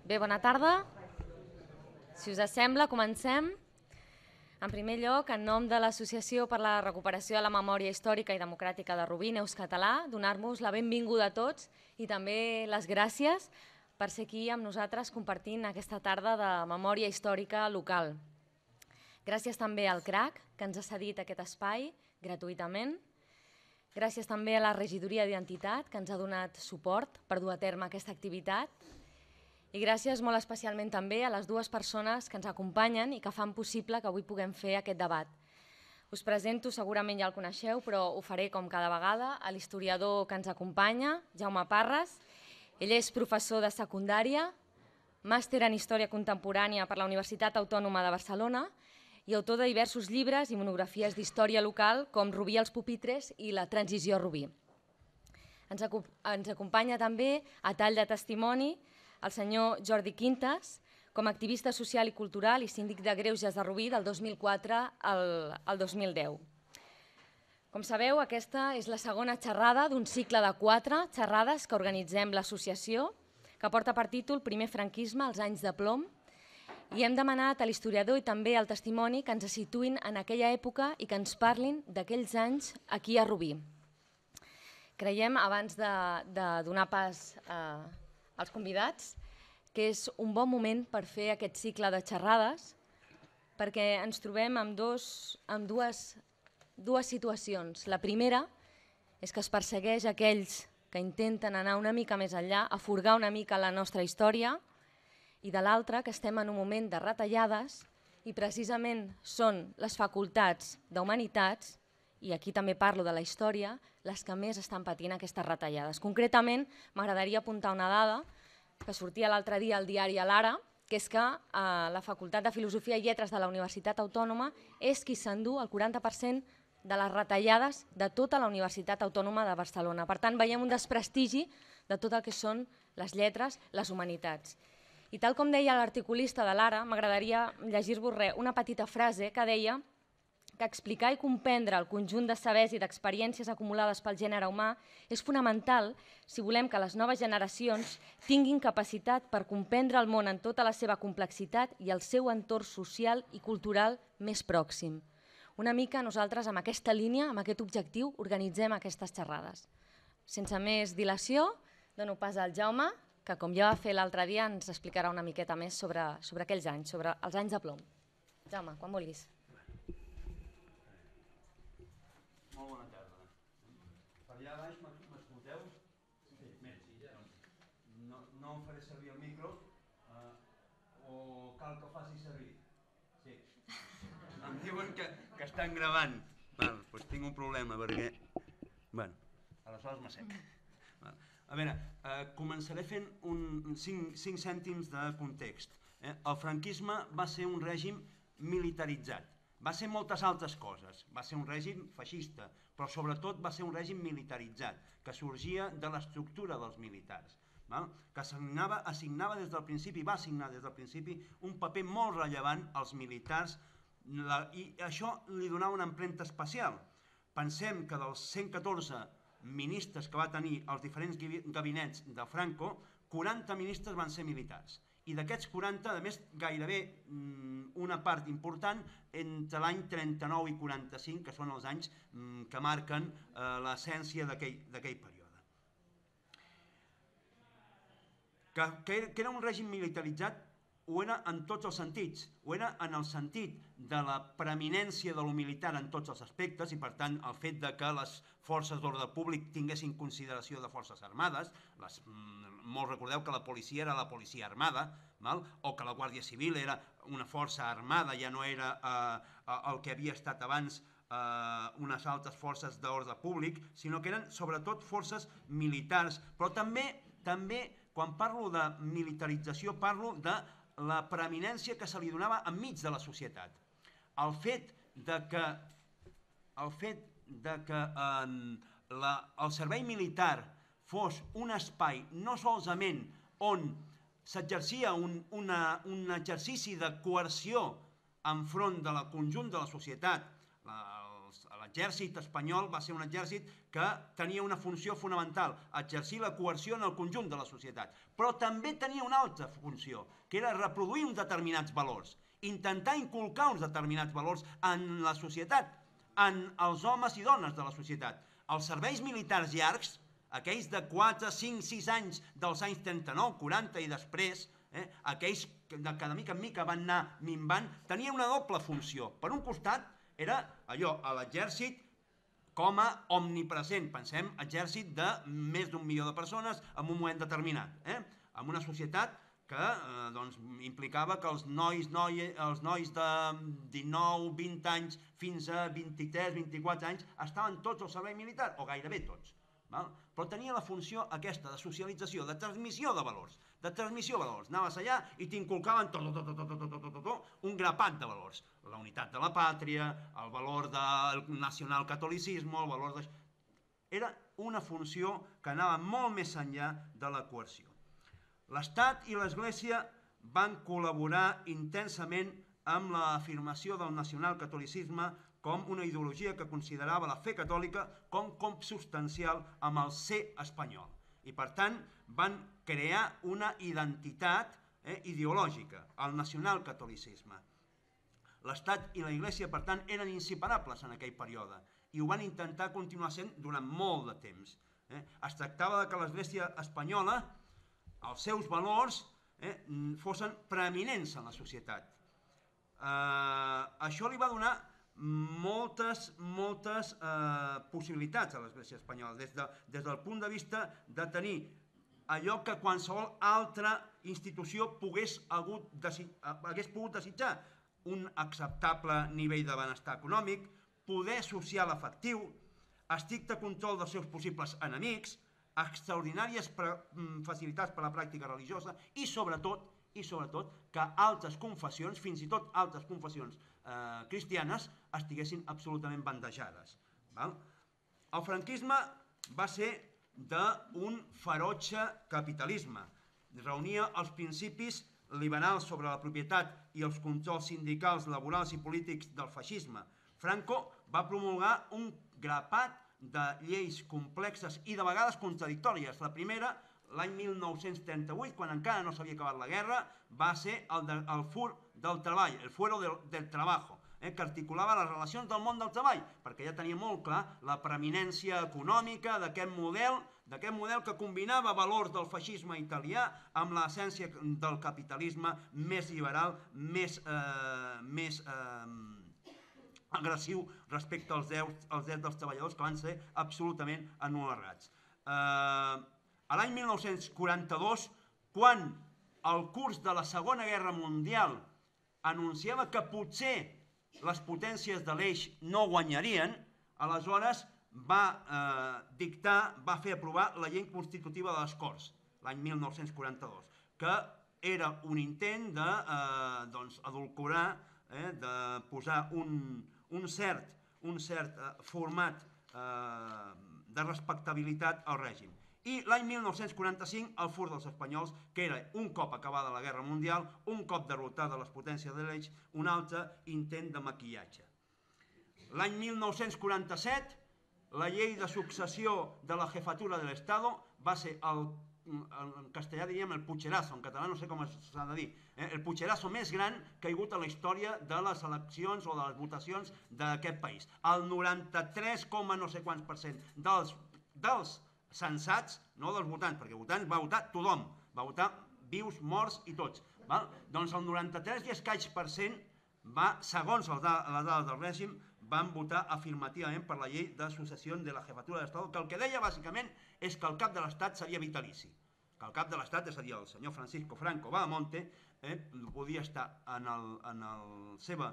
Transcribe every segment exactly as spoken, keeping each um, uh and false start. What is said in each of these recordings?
Bé, bona tarda. Si us sembla, comencem. En primer lloc, en nom de l'Associació per la Recuperació de la Memòria Històrica i Democràtica de Rubí, Neus Català, donar-vos la benvinguda a tots i també les gràcies per ser aquí amb nosaltres compartint aquesta tarda de memòria històrica local. Gràcies també al C R A C, que ens ha cedit aquest espai gratuïtament. Gràcies també a la Regidoria d'Identitat, que ens ha donat suport per dur a terme aquesta activitat. I gràcies molt especialment també a les dues persones que ens acompanyen i que fan possible que avui puguem fer aquest debat. Us presento, segurament ja el coneixeu, però ho faré com cada vegada, a l'historiador que ens acompanya, Jaume Parres. Ell és professor de secundària, màster en Història Contemporània per la Universitat Autònoma de Barcelona i autor de diversos llibres i monografies d'història local com Rubí als pupitres i La transició a Rubí. Ens acompanya també, a tall de testimoni, el senyor Jordi Quintas, com a activista social i cultural i síndic de Greuges de Rubí del dos mil quatre al dos mil deu. Com sabeu, aquesta és la segona xerrada d'un cicle de quatre xerrades que organitzem l'associació, que porta per títol Primer franquisme, els anys de plom, i hem demanat a l'historiador i també al testimoni que ens situïn en aquella època i que ens parlin d'aquells anys aquí a Rubí. Creiem, abans de, de donar pas a als convidats, que és un bon moment per fer aquest cicle de xerrades, perquè ens trobem amb, dos, amb dues, dues situacions. La primera és que es persegueix aquells que intenten anar una mica més enllà, a furgar una mica la nostra història, i de l'altra que estem en un moment de retallades i precisament són les facultats d'Humanitats, i aquí també parlo de la història, les que més estan patint aquestes retallades. Concretament, m'agradaria apuntar una dada que sortia l'altre dia al diari l'Ara, que és que eh, la Facultat de Filosofia i Lletres de la Universitat Autònoma és qui s'endú el quaranta per cent de les retallades de tota la Universitat Autònoma de Barcelona. Per tant, veiem un desprestigi de tot el que són les lletres, les humanitats. I tal com deia l'articulista de l'Ara, m'agradaria llegir-vos una petita frase que deia que explicar i comprendre el conjunt de sabers i d'experiències acumulades pel gènere humà és fonamental si volem que les noves generacions tinguin capacitat per comprendre el món en tota la seva complexitat i el seu entorn social i cultural més pròxim. Una mica nosaltres amb aquesta línia, amb aquest objectiu, organitzem aquestes xerrades. Sense més dilació, dono pas al Jaume, que com ja va fer l'altre dia ens explicarà una miqueta més sobre, sobre aquells anys, sobre els anys de plom. Jaume, quan vulguis. Molt bona tarda. Per allà baix m'escolteu? Sí, no, no em faré servir el micro eh, o cal que faci servir? Sí. Em diuen que, que estan gravant. Val, doncs tinc un problema perquè... Bueno, aleshores m'assec. A veure, eh, començaré fent un, cinc, cinc cèntims de context. Eh? El franquisme va ser un règim militaritzat. Va ser moltes altres coses, va ser un règim feixista, però sobretot va ser un règim militaritzat, que sorgia de l'estructura dels militars, val? Que assignava, assignava des del principi, va assignar des del principi un paper molt rellevant als militars, la, i això li donava una empremta especial. Pensem que dels cent catorze ministres que va tenir els diferents gabinets de Franco, quaranta ministres van ser militars. I d'aquests quaranta, a més, gairebé una part important entre l'any trenta-nou i quaranta-cinc, que són els anys que marquen l'essència d'aquell període. Que era un règim militaritzat, ho era en tots els sentits, ho era en el sentit de la preeminència de lo militar en tots els aspectes i per tant el fet de que les forces d'ordre públic tinguessin consideració de forces armades, les, molt recordeu que la policia era la policia armada, val? O que la Guàrdia Civil era una força armada, ja no era eh, el que havia estat abans eh, unes altres forces d'ordre públic, sinó que eren sobretot forces militars, però també, també quan parlo de militarització parlo de la preeminència que se li donava enmig de la societat. El fet de que, el fet de que eh, la, el servei militar fos un espai no solament on s'exercia un, una, un exercici de coerció enfront del conjunt de la societat, la, l'exèrcit espanyol va ser un exèrcit que tenia una funció fonamental, exercir la coerció en el conjunt de la societat, però també tenia una altra funció, que era reproduir uns determinats valors, intentar inculcar uns determinats valors en la societat, en els homes i dones de la societat. Els serveis militars llargs, aquells de quatre, cinc, sis anys dels anys trenta-nou, quaranta i després, eh, aquells que de mica en mica van anar minvant, tenien una doble funció. Per un costat, era allò, a l'exèrcit com a omnipresent, pensem, exèrcit de més d'un milió de persones en un moment determinat, eh? En una societat que eh, doncs, implicava que els nois, noi, els nois de dinou, vint anys fins a vint-i-tres, vint-i-quatre anys estaven tots al servei militar, o gairebé tots. Val? Però tenia la funció aquesta de socialització, de transmissió de valors, de transmissió de valors. Anaves allà i t'inculcaven tot, tot, tot, tot, tot, tot, tot, un grapat de valors. La unitat de la pàtria, el valor del nacionalcatolicisme, el valor de... Era una funció que anava molt més enllà de la coerció. L'Estat i l'Església van col·laborar intensament amb l'afirmació del nacionalcatolicisme com una ideologia que considerava la fe catòlica com consubstancial amb el ser espanyol. I per tant van crear una identitat eh, ideològica, el nacionalcatolicisme. L'Estat i la Iglésia, per tant, eren inseparables en aquell període i ho van intentar continuar sent durant molt de temps. Eh? Es tractava que l'Església espanyola, els seus valors, eh, fossin preeminents en la societat. Eh, això li va donar moltes, moltes eh, possibilitats a l'Església espanyola, des, de, des del punt de vista de tenir allò que qualsevol altra institució pogués, hagut, hagués pogut desitjar, un acceptable nivell de benestar econòmic, poder social efectiu, estricte control dels seus possibles enemics, extraordinàries facilitats per a la pràctica religiosa i sobretot, i sobretot que altres confessions, fins i tot altres confessions eh, cristianes, estiguessin absolutament bandejades. Val? El franquisme va ser d'un ferotge capitalisme. Reunia els principis liberals sobre la propietat i els controls sindicals, laborals i polítics del feixisme. Franco va promulgar un grapat de lleis complexes i de vegades contradictòries. La primera, l'any mil nou-cents trenta-vuit, quan encara no s'havia acabat la guerra, va ser el, de, el fur del treball, el fuero del, del trabajo, eh, que articulava les relacions del món del treball, perquè ja tenia molt clar la preeminència econòmica d'aquest model, d'aquest model que combinava valors del feixisme italià amb l'essència del capitalisme més liberal, més, eh, més eh, agressiu respecte als drets, als drets dels treballadors, que van ser absolutament anularats. Eh, a l'any mil nou-cents quaranta-dos, quan el curs de la Segona Guerra Mundial anunciava que potser les potències de l'eix no guanyarien, aleshores va eh, dictar, va fer aprovar la llei constitutiva de les Corts, l'any mil nou-cents quaranta-dos, que era un intent de eh, doncs, edulcorar, eh, de posar un, un cert, un cert eh, format eh, de respectabilitat al règim. I l'any mil nou-cents quaranta-cinc, el fur dels espanyols, que era un cop acabada la Guerra Mundial, un cop derrotada les potències de l'eix, un altre intent de maquillatge. L'any mil nou-cents quaranta-set, la llei de successió de la jefatura de l'Estado va ser, el, en castellà diríem el pucherazo, en català no sé com s'ha de dir, eh, el pucherazo més gran que hi ha hagut a la història de les eleccions o de les votacions d'aquest país. El noranta-tres coma no sé quants per cent dels, dels sensats, no dels votants, perquè votants va votar tothom, va votar vius, morts i tots. Val? Doncs el noranta-tres i escaig per cent va, segons les dades del règim, van votar afirmativament per la llei de successió de la jefatura de l'Estat, que el que deia bàsicament és que el cap de l'Estat seria vitalici. Que el cap de l'Estat, és a dir, el senyor Francisco Franco Bahamonte, eh, podia estar en la en el seva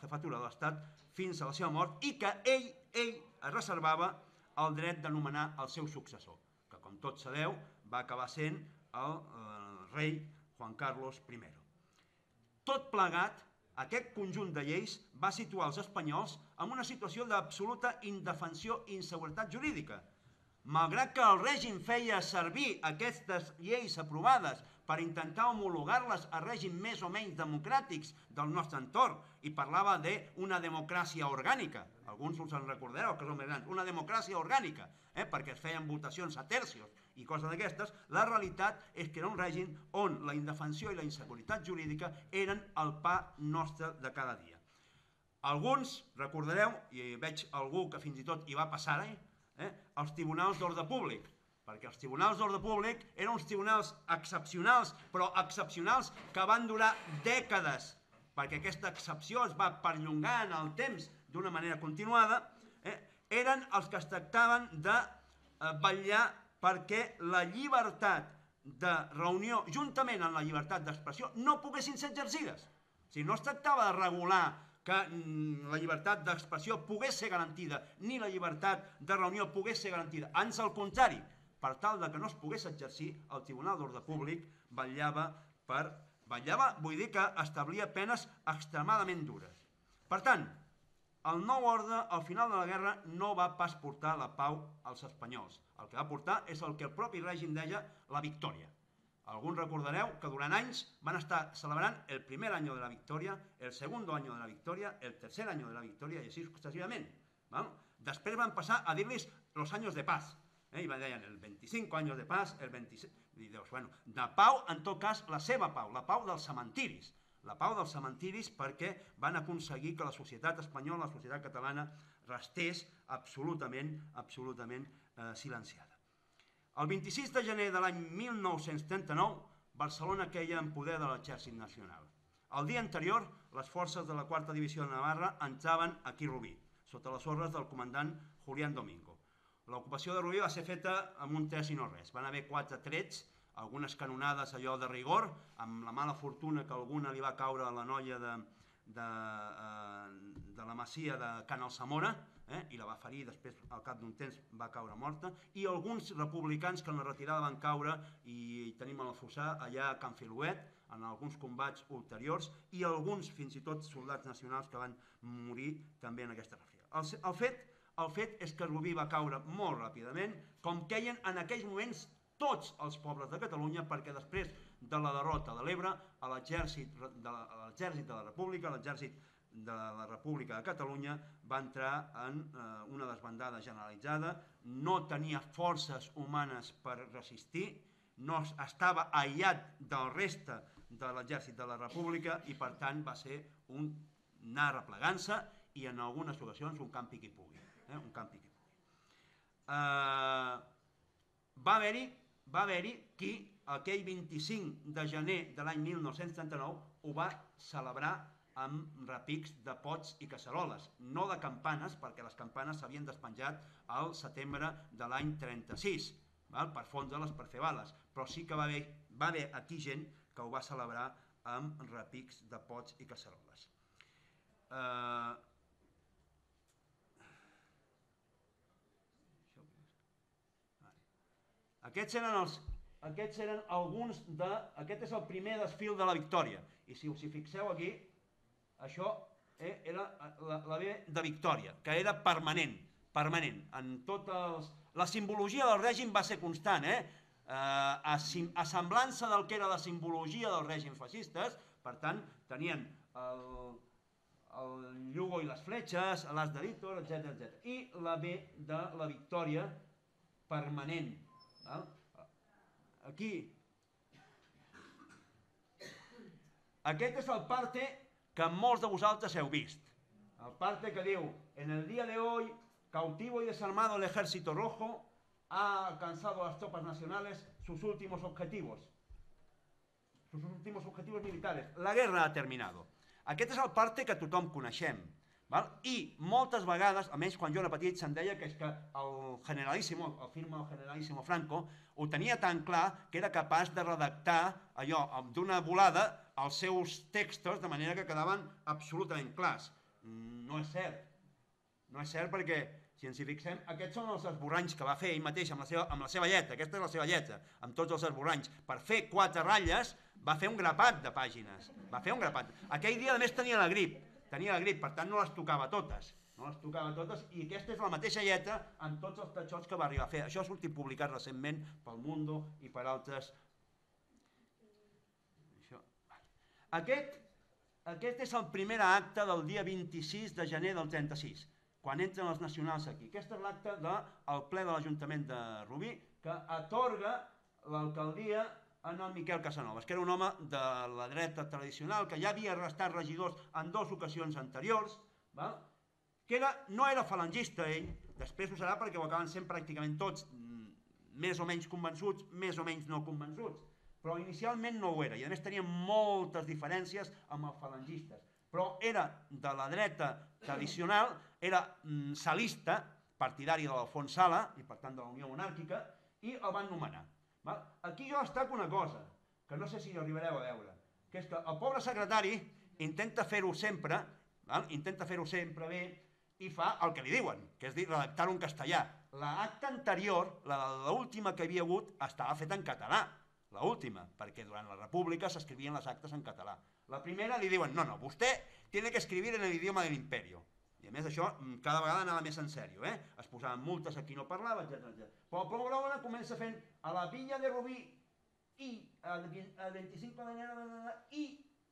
jefatura de l'Estat fins a la seva mort i que ell, ell es reservava el dret de nomenar el seu successor, que com tots sabeu va acabar sent el, el rei Juan Carlos primero. Tot plegat, aquest conjunt de lleis va situar els espanyols en una situació d'absoluta indefensió i inseguretat jurídica. malgrat que el règim feia servir aquestes lleis aprovades per intentar homologar-les a règims més o menys democràtics del nostre entorn i parlava d'una democràcia orgànica, alguns us en recordareu que són més grans, una democràcia orgànica, eh, perquè es feien votacions a tercios i coses d'aquestes, la realitat és que era un règim on la indefensió i la inseguretat jurídica eren el pa nostre de cada dia. Alguns, recordareu, i veig algú que fins i tot hi va passar, eh, els tribunals d'ordre públic, perquè els tribunals d'ordre públic eren uns tribunals excepcionals, però excepcionals que van durar dècades, perquè aquesta excepció es va perllongar en el temps d'una manera continuada, eh, eren els que es tractaven de eh, vetllar perquè la llibertat de reunió, juntament amb la llibertat d'expressió, no poguessin ser exercides. O sigui, no es tractava de regular que mm, la llibertat d'expressió pogués ser garantida, ni la llibertat de reunió pogués ser garantida. Ans al contrari, per tal de que no es pogués exercir, el Tribunal d'Ordre Públic vetllava per... vetllava, vull dir que establia penes extremadament dures. Per tant, el nou ordre, al final de la guerra, no va pas portar la pau als espanyols. El que va portar és el que el propi règim deia la victòria. Alguns recordareu que durant anys van estar celebrant el primer any de la victòria, el segon any de la victòria, el tercer any de la victòria i així successivament. Després van passar a dir-los los años de paz. Eh, i deien el vint-i-cinc anys de paz, el vint-i-set... I dius, bueno, de pau, en tot cas, la seva pau, la pau dels cementiris. La pau dels cementiris perquè van aconseguir que la societat espanyola, la societat catalana, restés absolutament, absolutament eh, silenciada. El vint-i-sis de gener de l'any mil nou-cents trenta-nou, Barcelona queia en poder de l'Exèrcit Nacional. El dia anterior, les forces de la quarta divisió de Navarra entraven aquí a Rubí, sota les ordres del comandant Julián Domingo. L'ocupació de Rubí va ser feta amb un tres i no res. Van haver quatre trets, algunes canonades allò de rigor, amb la mala fortuna que alguna li va caure a la noia de, de, de la masia de Can Alsamora, eh, i la va ferir, després al cap d'un temps va caure morta, i alguns republicans que en la retirada van caure, i tenim a la Fossà, allà a Can Filuet, en alguns combats ulteriors, i alguns, fins i tot, soldats nacionals que van morir també en aquesta retirada. El, el fet El fet és que Rubí va caure molt ràpidament, com queien en aquells moments tots els pobles de Catalunya, perquè després de la derrota de l'Ebre, l'exèrcit de la República, l'exèrcit de la República de Catalunya va entrar en eh, una desbandada generalitzada, no tenia forces humanes per resistir, no estava aïllat del reste de l'exèrcit de la República i per tant va ser un anar replegant-se i en algunes ocasions un campi qui pugui. Eh, un campi que pugui. Uh, va haver-hi va haver-hi qui aquell vint-i-cinc de gener de l'any mil nou-cents trenta-nou ho va celebrar amb repics de pots i casseroles, no de campanes, perquè les campanes s'havien despenjat al setembre de l'any trenta-sis, val? Per fondre-les, per fer bales, però sí que va haver, va haver aquí gent que ho va celebrar amb repics de pots i casseroles. Uh, Aquests eren, els, aquests eren alguns de... Aquest és el primer desfil de la victòria. I si us hi fixeu aquí, això eh, era la, la B de victòria, que era permanent. permanent. En tot els... La simbologia del règim va ser constant, eh? Eh, a, a semblança del que era la simbologia del règim feixistes, per tant, tenien el, el Llugo i les fletxes, l'as de Víctor, etcètera, etcètera. I la B de la victòria permanent. Aquí, aquest és el parte que molts de vosaltres heu vist. El parte que diu, en el día de hoy, cautivo y desarmado el ejército rojo ha alcanzado a las tropas nacionales sus últimos objetivos. Sus últimos objetivos militares. La guerra ha terminado. Aquest és el parte que tothom coneixem. Val? I moltes vegades, almenys quan jo era petit, se'n deia que és que el generalíssimo, el firma el generalíssimo Franco, ho tenia tan clar que era capaç de redactar allò d'una volada els seus textos de manera que quedaven absolutament clars. No és cert. No és cert perquè, si ens hi fixem, aquests són els esborranys que va fer ell mateix amb la seva, amb la seva lletra. Aquesta és la seva lletra, amb tots els esborranys. Per fer quatre ratlles va fer un grapat de pàgines. Va fer un grapat. Aquell dia, a més, tenia la grip. Tenia la grip, per tant no les tocava totes. no les tocava totes, i aquesta és la mateixa lletra amb tots els tatxots que va arribar a fer. Això ha sortit publicat recentment pel Mundo i per altres. Això. Aquest, aquest és el primer acte del dia vint-i-sis de gener del trenta-sis, quan entren els nacionals aquí. Aquest és l'acte del ple de l'Ajuntament de Rubí, que atorga l'alcaldia en el Miquel Casanovas, que era un home de la dreta tradicional, que ja havia estat regidor en dues ocasions anteriors, val? Que era, no era falangista ell, després ho serà perquè ho acaben sent pràcticament tots més o menys convençuts, més o menys no convençuts, però inicialment no ho era, i a més tenia moltes diferències amb els falangistes, però era de la dreta tradicional, era mm, salista, partidari de l'Alfons Sala, i per tant de la Unió Monàrquica, i el van nomenar. Val? Aquí jo destaco una cosa, que no sé si ho arribareu a veure, que és que el pobre secretari intenta fer-ho sempre, val? Intenta fer-ho sempre bé, i fa el que li diuen, que és dir, redactar-ho en castellà. L'acta anterior, l'última que havia hagut, estava feta en català, l'última, perquè durant la República s'escrivien les actes en català. La primera li diuen, no, no, vostè tiene que escribir en el idioma del imperio. I a més això cada vegada anava més en sèrio, eh? Es posaven multes a qui no parlava, etcètera. Però el programa comença fent a la Villa de Rubí i el vint-i-cinc d'enero i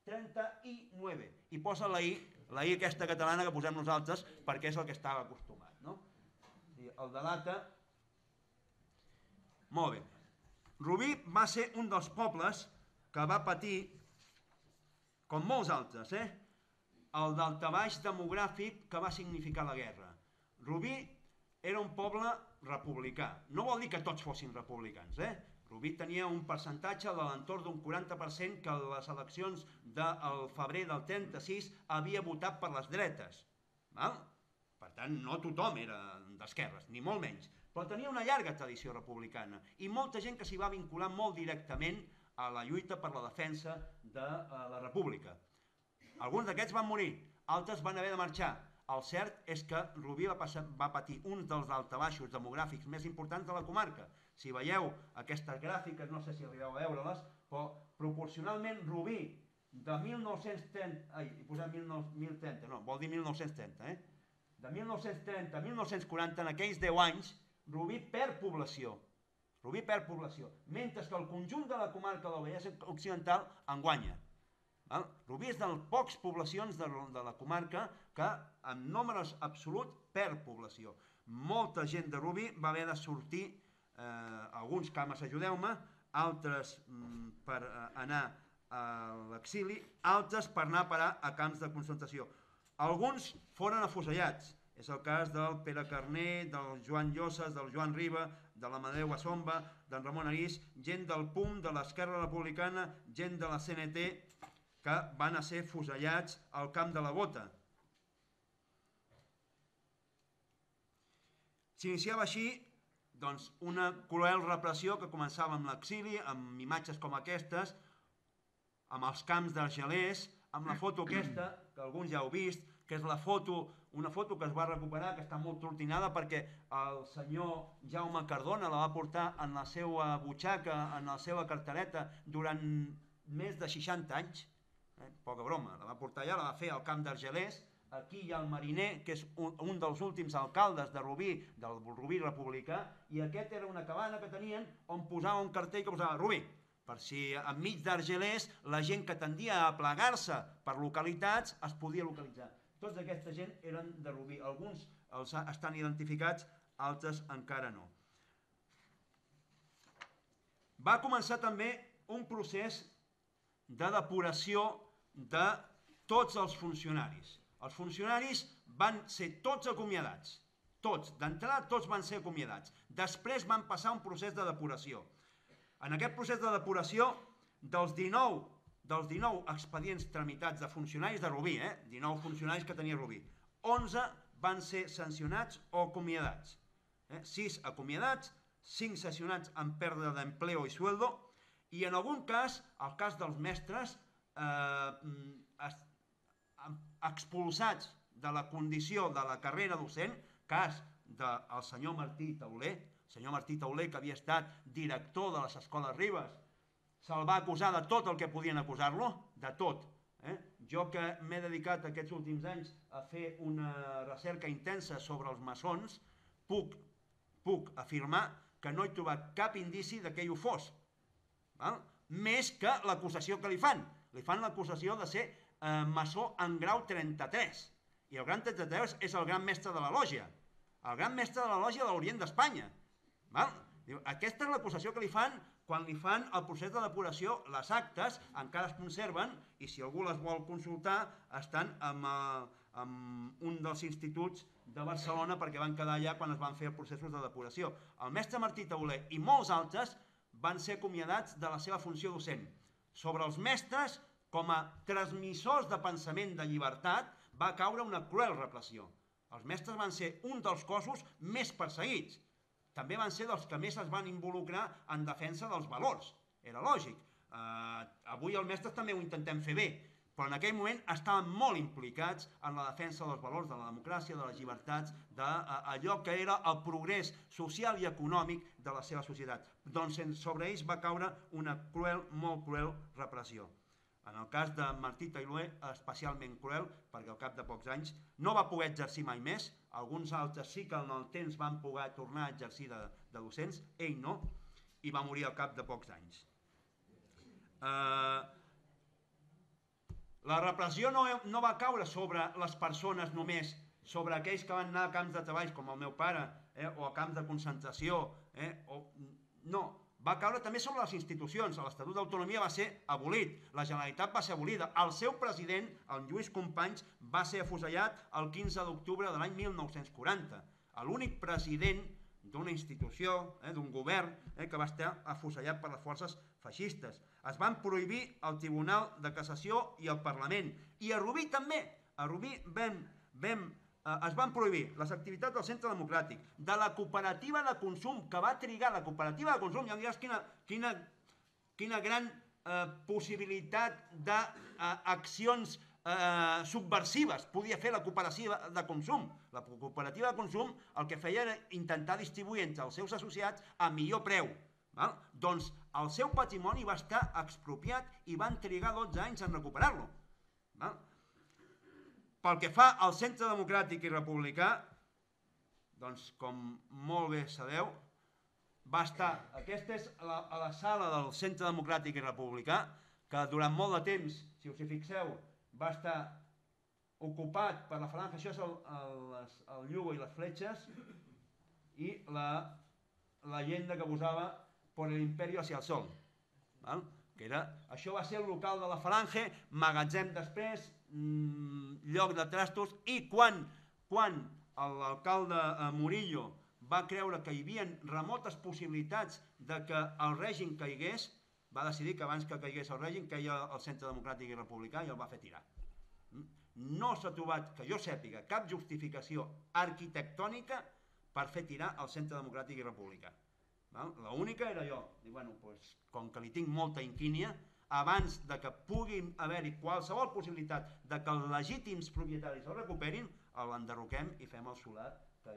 trenta-nou, i posa la I, la I aquesta catalana que posem nosaltres perquè és el que estava acostumat, no? I el delata. Molt bé. Rubí va ser un dels pobles que va patir, com molts altres, eh? el daltabaix demogràfic que va significar la guerra. Rubí era un poble republicà. No vol dir que tots fossin republicans, eh? Rubí tenia un percentatge de l'entorn d'un quaranta per cent que a les eleccions del febrer del trenta-sis havia votat per les dretes. Val? Per tant, no tothom era d'esquerres, ni molt menys. Però tenia una llarga tradició republicana i molta gent que s'hi va vincular molt directament a la lluita per la defensa de la República. Alguns d'aquests van morir, altres van haver de marxar. El cert és que Rubí va, passar, va patir un dels daltabaixos demogràfics més importants de la comarca. Si veieu aquestes gràfiques, no sé si arribeu a veure-les, però proporcionalment Rubí de mil nou-cents trenta, ai, he posat mil trenta, no, vol dir mil nou-cents trenta, eh? De mil nou-cents trenta a mil nou-cents quaranta, en aquells deu anys, Rubí perd població. Rubí perd població, mentre que el conjunt de la comarca del Vallès Occidental en guanya. Rubí és de les poques poblacions de la comarca que en números absoluts perd població. Molta gent de Rubí va haver de sortir, alguns cames, ajudeu-me, altres per anar a l'exili, altres per anar a parar a camps de concentració. Alguns foren afusellats, és el cas del Pere Carner, del Joan Llosses, del Joan Riba, de l'Amadeu Assomba, d'en Ramon Arís, gent del P U M, de l'Esquerra Republicana, gent de la C N T, que van a ser fusellats al camp de la Bota. S'iniciava així doncs, una cruel repressió que començava amb l'exili, amb imatges com aquestes, amb els camps d'Argelers, amb la foto aquesta, que alguns ja heu vist, que és la foto, una foto que es va recuperar, que està molt tortinada perquè el senyor Jaume Cardona la va portar en la seva butxaca, en la seva cartereta, durant més de seixanta anys. Eh, poca broma, la va portar allà, la va fer al camp d'Argelers. Aquí hi ha el Mariner, que és un, un dels últims alcaldes de Rubí, del Rubí republicà, i aquest era una cabana que tenien on posava un cartell que posava Rubí, per si enmig d'Argelers la gent que tendia a plegar-se per localitats es podia localitzar. Tots aquesta gent eren de Rubí, alguns els estan identificats, altres encara no. Va començar també un procés de depuració de tots els funcionaris. Els funcionaris van ser tots acomiadats, tots, d'entrada tots van ser acomiadats. Després van passar un procés de depuració. En aquest procés de depuració, dels dinou, dels dinou expedients tramitats de funcionaris de Rubí, eh? dinou funcionaris que tenia Rubí, onze van ser sancionats o acomiadats. Eh? sis acomiadats, cinc sancionats amb pèrdua d'empleo i sueldo, i en algun cas, el cas dels mestres, eh, expulsats de la condició de la carrera docent, cas del senyor Martí Tauler, el senyor Martí Tauler, que havia estat director de les escoles Ribes, se'l va acusar de tot el que podien acusar-lo, de tot, eh? Jo que m'he dedicat aquests últims anys a fer una recerca intensa sobre els maçons, puc, puc afirmar que no he trobat cap indici de que ell ho fos. Val? Més que l'acusació que li fan. Li fan l'acusació de ser eh, maçó en grau trenta-tres. I el gran trenta-tres és el gran mestre de la lògia. El gran mestre de la lògia de l'Orient d'Espanya. Aquesta és l'acusació que li fan quan li fan el procés de depuració. Les actes encara es conserven i si algú les vol consultar estan en, en un dels instituts de Barcelona perquè van quedar allà quan es van fer els processos de depuració. El mestre Martí Tauler i molts altres van ser acomiadats de la seva funció docent. Sobre els mestres, com a transmissors de pensament de llibertat, va caure una cruel repressió. Els mestres van ser un dels cossos més perseguits. També van ser dels que més es van involucrar en defensa dels valors. Era lògic. Eh, avui els mestres també ho intentem fer bé, però en aquell moment estaven molt implicats en la defensa dels valors de la democràcia, de les llibertats, d'allò que era el progrés social i econòmic de la seva societat. Doncs sobre ells va caure una cruel, molt cruel repressió. En el cas de Martí Tauler, especialment cruel, perquè al cap de pocs anys no va poder exercir mai més, alguns altres sí que en el temps van poder tornar a exercir de, de docents, ell no, i va morir al cap de pocs anys. Eh, la repressió no, no va caure sobre les persones només, sobre aquells que van anar a camps de treball, com el meu pare, eh, o a camps de concentració, eh, o, no, va caure també sobre les institucions. L'Estatut d'Autonomia va ser abolit, la Generalitat va ser abolida, el seu president, el Lluís Companys, va ser afusellat el quinze d'octubre de l'any mil nou-cents quaranta. L'únic president d'una institució, eh, d'un govern, eh, que va estar afusellat per les forces feixistes. Es van prohibir el Tribunal de Cassació i el Parlament. I a Rubí també. A Rubí vam... vam es van prohibir les activitats del Centre Democràtic, de la cooperativa de consum, que va trigar la cooperativa de consum, ja em diràs quina, quina, quina gran eh, possibilitat d'accions eh, subversives podia fer la cooperativa de consum. La cooperativa de consum el que feia era intentar distribuir entre els seus associats a millor preu. Val? Doncs el seu patrimoni va estar expropiat i van trigar dotze anys en recuperar-lo. Val? Pel que fa al Centre Democràtic i Republicà, doncs, com molt bé sabeu, va estar, aquesta és la, a la sala del Centre Democràtic i Republicà, que durant molt de temps, si us hi fixeu, va estar ocupat per la falange, això és el, el, el Yugo i les fletxes, i la, la llegenda que posava por el imperio hacia el sol. Val? Que era, això va ser el local de la falange, magatzem després, mmm, lloc de trastos, i quan, quan l'alcalde eh, Murillo va creure que hi havia remotes possibilitats de que el règim caigués, va decidir que abans que caigués el règim caia el Centre Democràtic i Republicà i el va fer tirar. No s'ha trobat, que jo sàpiga, cap justificació arquitectònica per fer tirar el Centre Democràtic i Republicà. L'única era jo. I, bueno, doncs, com que li tinc molta inquínia, abans de que pugui haver-hi qualsevol possibilitat de que els legítims propietaris el recuperin, l'enderroquem i fem el solar que,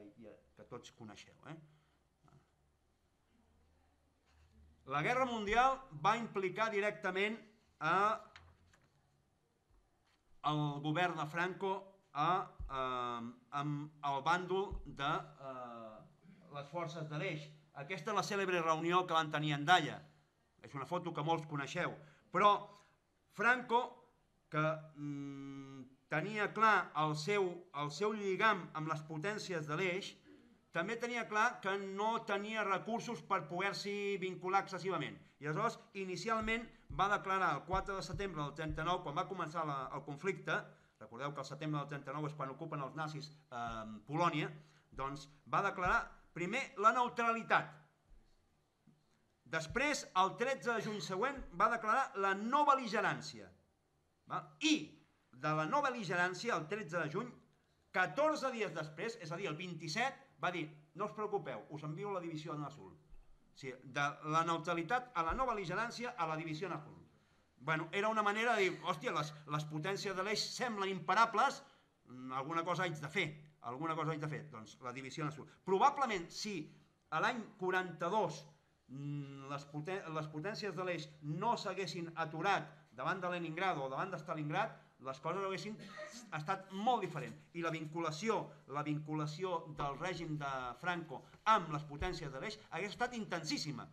que tots coneixeu. Eh? La Guerra Mundial va implicar directament a el govern de Franco a, a, amb el bàndol de a, les forces de l'Eix. Aquesta és la cèlebre reunió que van tenir a Andalla. És una foto que molts coneixeu. Però Franco, que mm, tenia clar el seu, el seu lligam amb les potències de l'Eix, també tenia clar que no tenia recursos per poder-s'hi vincular excessivament. I aleshores, inicialment, va declarar el quatre de setembre del trenta-nou, quan va començar la, el conflicte, recordeu que el setembre del trenta-nou és quan ocupen els nazis eh, Polònia, doncs va declarar primer la neutralitat. Després, el tretze de juny següent, va declarar la no bel·ligerància. I de la no bel·ligerància, el tretze de juny, catorze dies després, és a dir, el vint-i-set, va dir, no us preocupeu, us envio la divisió en azul. O sigui, de la neutralitat a la no bel·ligerància a la divisió en azul. Bueno, era una manera de dir, hòstia, les, les potències de l'Eix semblen imparables, alguna cosa haig de fer. Alguna cosa haig de fer, doncs la divisió en azul. Probablement, si a l'any quaranta-dos les, poten les potències de l'Eix no s'haguessin aturat davant de Leningrado o davant de Stalingrad, les coses haguessin estat molt diferents. I la vinculació, la vinculació del règim de Franco amb les potències de l'Eix hagués estat intensíssima.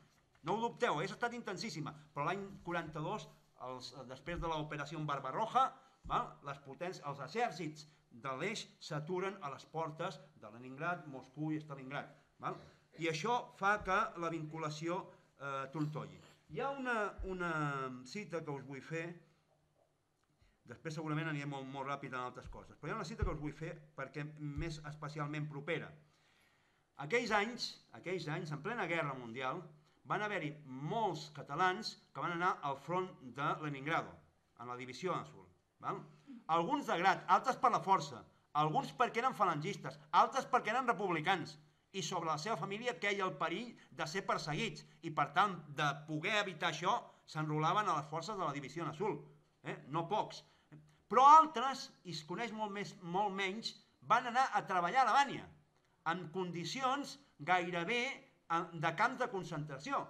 No ho dubteu, hagués estat intensíssima. Però l'any quaranta-dos, els, després de l'operació Barbarroja, val, les potències, els exèrcits de l'Eix s'aturen a les portes de Leningrad, Moscou i Stalingrad. Val? I això fa que la vinculació eh, trontolli. Hi ha una, una cita que us vull fer, després segurament aniré molt, molt ràpid en altres coses, però hi ha una cita que us vull fer perquè més especialment propera. Aquells anys, aquells anys, en plena guerra mundial, van haver-hi molts catalans que van anar al front de Leningrado, en la divisió azul. Val? Alguns de grat, altres per la força, alguns perquè eren falangistes, altres perquè eren republicans, i sobre la seva família queia el perill de ser perseguits, i per tant, de poder evitar això, s'enrolaven a les forces de la divisió azul. Eh? No pocs. Però altres, i es coneix molt, més, molt menys, van anar a treballar a Alemanya, en condicions gairebé de camps de concentració.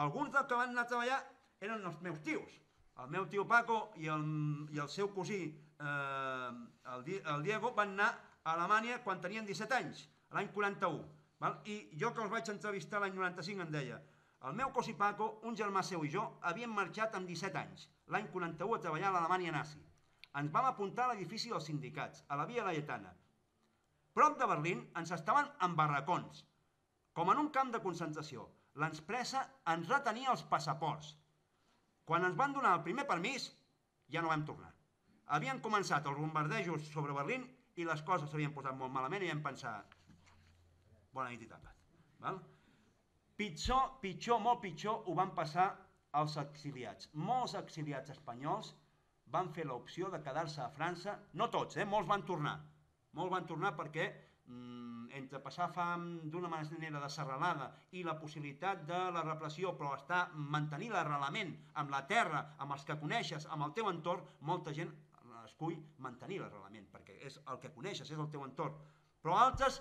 Alguns dels que van anar a treballar eren els meus tios. El meu tio Paco i el, i el seu cosí, eh, el, el Diego, van anar a Alemanya quan tenien disset anys, l'any quaranta-u. Val? I jo que els vaig entrevistar l'any noranta-cinc em deia, el meu cosí Paco, un germà seu i jo, havíem marxat amb disset anys, l'any quaranta-u a treballar a l'Alemanya nazi. Ens vam apuntar a l'edifici dels sindicats, a la Via Laietana. Prop de Berlín ens estaven en barracons, com en un camp de concentració. L'empresa ens retenia els passaports. Quan ens van donar el primer permís, ja no vam tornar. Havien començat els bombardejos sobre Berlín i les coses s'havien posat molt malament i vam pensar, bona nit i tapat. Val? Pitjor, pitjor, molt pitjor ho van passar els exiliats. Molts exiliats espanyols van fer l'opció de quedar-se a França, no tots, eh? Molts van tornar. Molts van tornar perquè mm, entre passar fam d'una manera de serralada i la possibilitat de la repressió, però estar, mantenir l'arrelament amb la terra, amb els que coneixes, amb el teu entorn, molta gent escull mantenir l'arrelament, perquè és el que coneixes, és el teu entorn. Però altres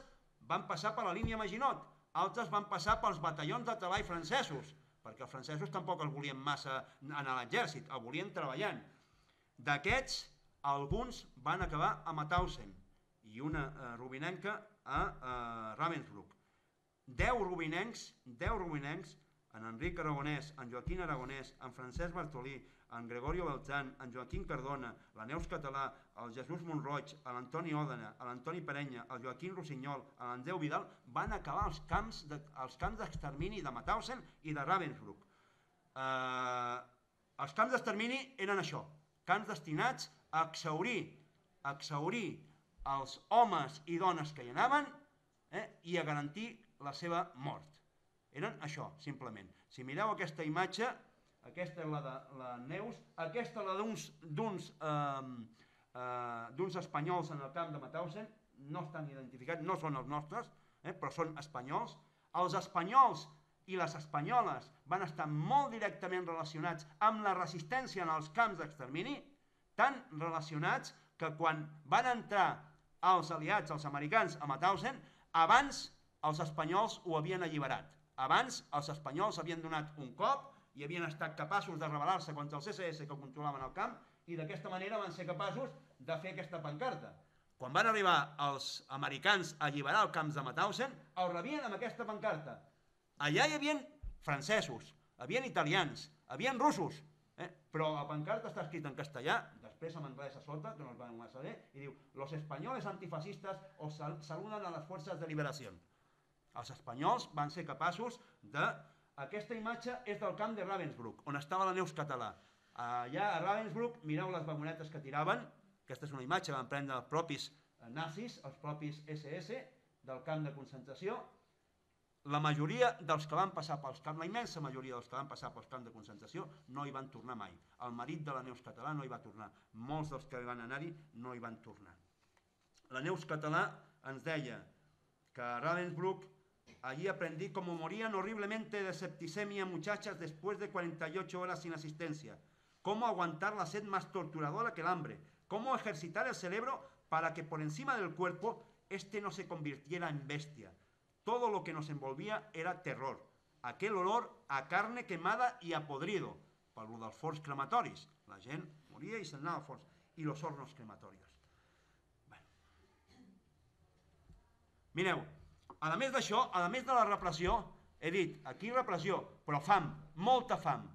van passar per la línia Maginot, altres van passar pels batallons de treball francesos, perquè els francesos tampoc els volien massa anar a l'exèrcit, el volien treballant. D'aquests, alguns van acabar a Mauthausen i una eh, rubinenca a eh, Ravensbrück. Deu rubinencs, deu rubinencs, en Enric Aragonès, en Joaquín Aragonès, en Francesc Bartolí, en Gregorio Beltrán, en Joaquín Cardona, la Neus Català, el Jesús Monroig, l'Antoni Òdena, l'Antoni Perenya, el Joaquín Rossinyol, l'Andreu Vidal, van acabar als camps de, als camps d'extermini de Mauthausen i de Ravensbrück. Eh, els camps d'extermini eren això, camps destinats a exhaurir, a exhaurir els homes i dones que hi anaven eh, i a garantir la seva mort. Eren això, simplement. Si mireu aquesta imatge, aquesta és la de la Neus, aquesta és la d'uns d'uns eh, eh, d'uns espanyols en el camp de Mauthausen, no estan identificats, no són els nostres, eh, però són espanyols. Els espanyols i les espanyoles van estar molt directament relacionats amb la resistència en els camps d'extermini, tan relacionats que quan van entrar els aliats, els americans, a Mauthausen, abans els espanyols ho havien alliberat. Abans els espanyols havien donat un cop i havien estat capaços de rebel·lar-se contra els esse esse que controlaven el camp i d'aquesta manera van ser capaços de fer aquesta pancarta. Quan van arribar els americans a alliberar els camps de Mauthausen, els rebien amb aquesta pancarta. Allà hi havia francesos, hi havia italians, hi havia russos, eh? Però la pancarta està escrita en castellà, després en anglès a sota, que no es van saber, i diu «Los españoles antifascistas os saluden a las fuerzas de liberación». Els espanyols van ser capaços de... Aquesta imatge és del camp de Ravensbrück, on estava la Neus Català. Allà a Ravensbrück, mireu les vagonetes que tiraven, aquesta és una imatge que van prendre els propis nazis, els propis esse esse, del camp de concentració. La majoria dels que van passar pels camps, la immensa majoria dels que van passar pels camps de concentració, no hi van tornar mai. El marit de la Neus Català no hi va tornar. Molts dels que van anar-hi no hi van tornar. La Neus Català ens deia que a Ravensbrück allí aprendí cómo morían horriblemente de septicemia muchachas después de cuarenta y ocho horas sin asistencia, cómo aguantar la sed más torturadora que el hambre, cómo ejercitar el cerebro para que por encima del cuerpo este no se convirtiera en bestia. Todo lo que nos envolvía era terror, aquel olor a carne quemada y a podrido, per lo dels forns crematoris. La gent moria i se'n anava als forns. y los hornos crematorios. Bueno. Mireu, a més d'això, a més de la repressió, he dit, aquí repressió, però fam, molta fam.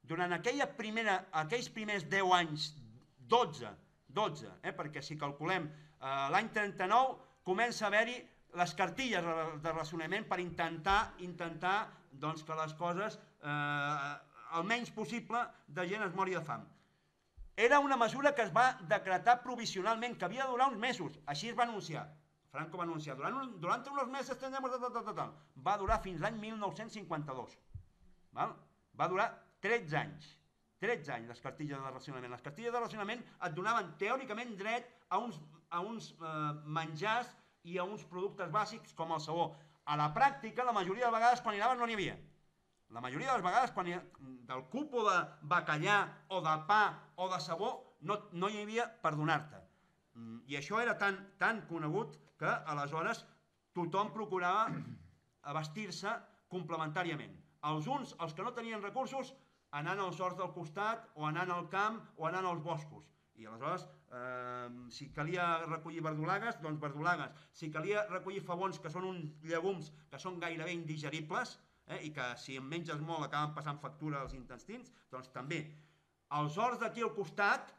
Durant aquella primera, aquells primers deu anys, dotze, dotze, eh, perquè si calculem eh, l'any trenta-nou, comença a haver-hi les cartilles de racionament per intentar, intentar doncs, que les coses, eh, el menys possible de gent es mori de fam. Era una mesura que es va decretar provisionalment, que havia de durar uns mesos, així es va anunciar. Franco va anunciar, durant, durant uns mesos tendremos... Va durar fins l'any mil nou-cents cinquanta-dos. Val? Va durar tretze anys. tretze anys les cartilles de racionament. Les cartilles de racionament et donaven teòricament dret a uns, a uns eh, menjars i a uns productes bàsics com el sabó. A la pràctica, la majoria de vegades quan hi anaves no n'hi havia. La majoria de les vegades quan hi, del cupo de bacallà o de pa o de sabó no, no hi havia per donar-te. I això era tan, tan conegut que aleshores tothom procurava vestir-se complementàriament. Els uns, els que no tenien recursos, anant als horts del costat o anant al camp o anant als boscos. I aleshores, eh, si calia recollir verdolagues, doncs verdolagues. Si calia recollir favons, que són uns llegums que són gairebé indigeribles, eh, i que si en menges molt acaben passant factura als intestins, doncs també. Els horts d'aquí al costat,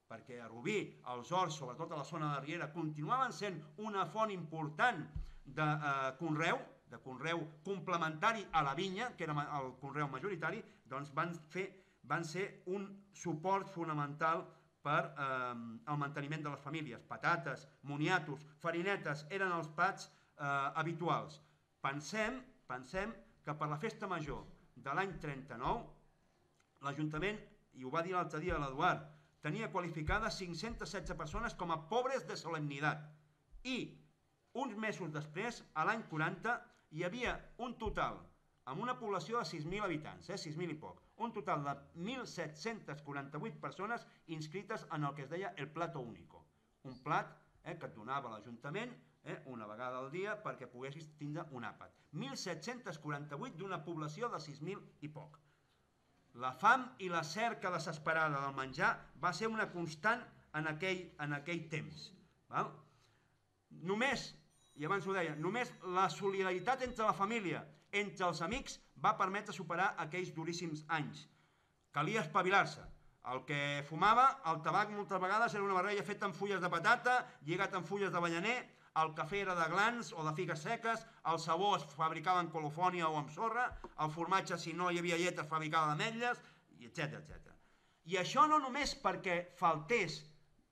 perquè a Rubí els horts, sobretot a la zona de Riera, continuaven sent una font important de eh, conreu, de conreu complementari a la vinya, que era el conreu majoritari, doncs van, fer, van ser un suport fonamental per eh, el manteniment de les famílies. Patates, moniatos, farinetes eren els plats eh, habituals. Pensem, pensem que per la festa major de l'any trenta-nou, l'Ajuntament, i ho va dir l'altre dia l'Eduard, tenia qualificades cinc-centes setze persones com a pobres de solemnitat. I uns mesos després, a l'any quaranta, hi havia un total, amb una població de sis mil habitants, eh, sis mil i poc, un total de mil set-cents quaranta-vuit persones inscrites en el que es deia el Plato Único. Un plat eh, que et donava l'Ajuntament eh, una vegada al dia perquè poguessis tindre un àpat. mil set-cents quaranta-vuit d'una població de sis mil i poc. La fam i la cerca desesperada del menjar va ser una constant en aquell, en aquell temps. Val? Només, i abans ho deia, només la solidaritat entre la família, entre els amics, va permetre superar aquells duríssims anys. Calia espavilar-se. El que fumava, el tabac moltes vegades era una barreja feta amb fulles de patata, lligat amb fulles de ballaner, el cafè era de glans o de figues seques, el sabó es fabricava en colofònia o amb sorra, el formatge, si no hi havia llet, es fabricava d'ametlles, etcètera, etcètera. I això no només perquè faltés,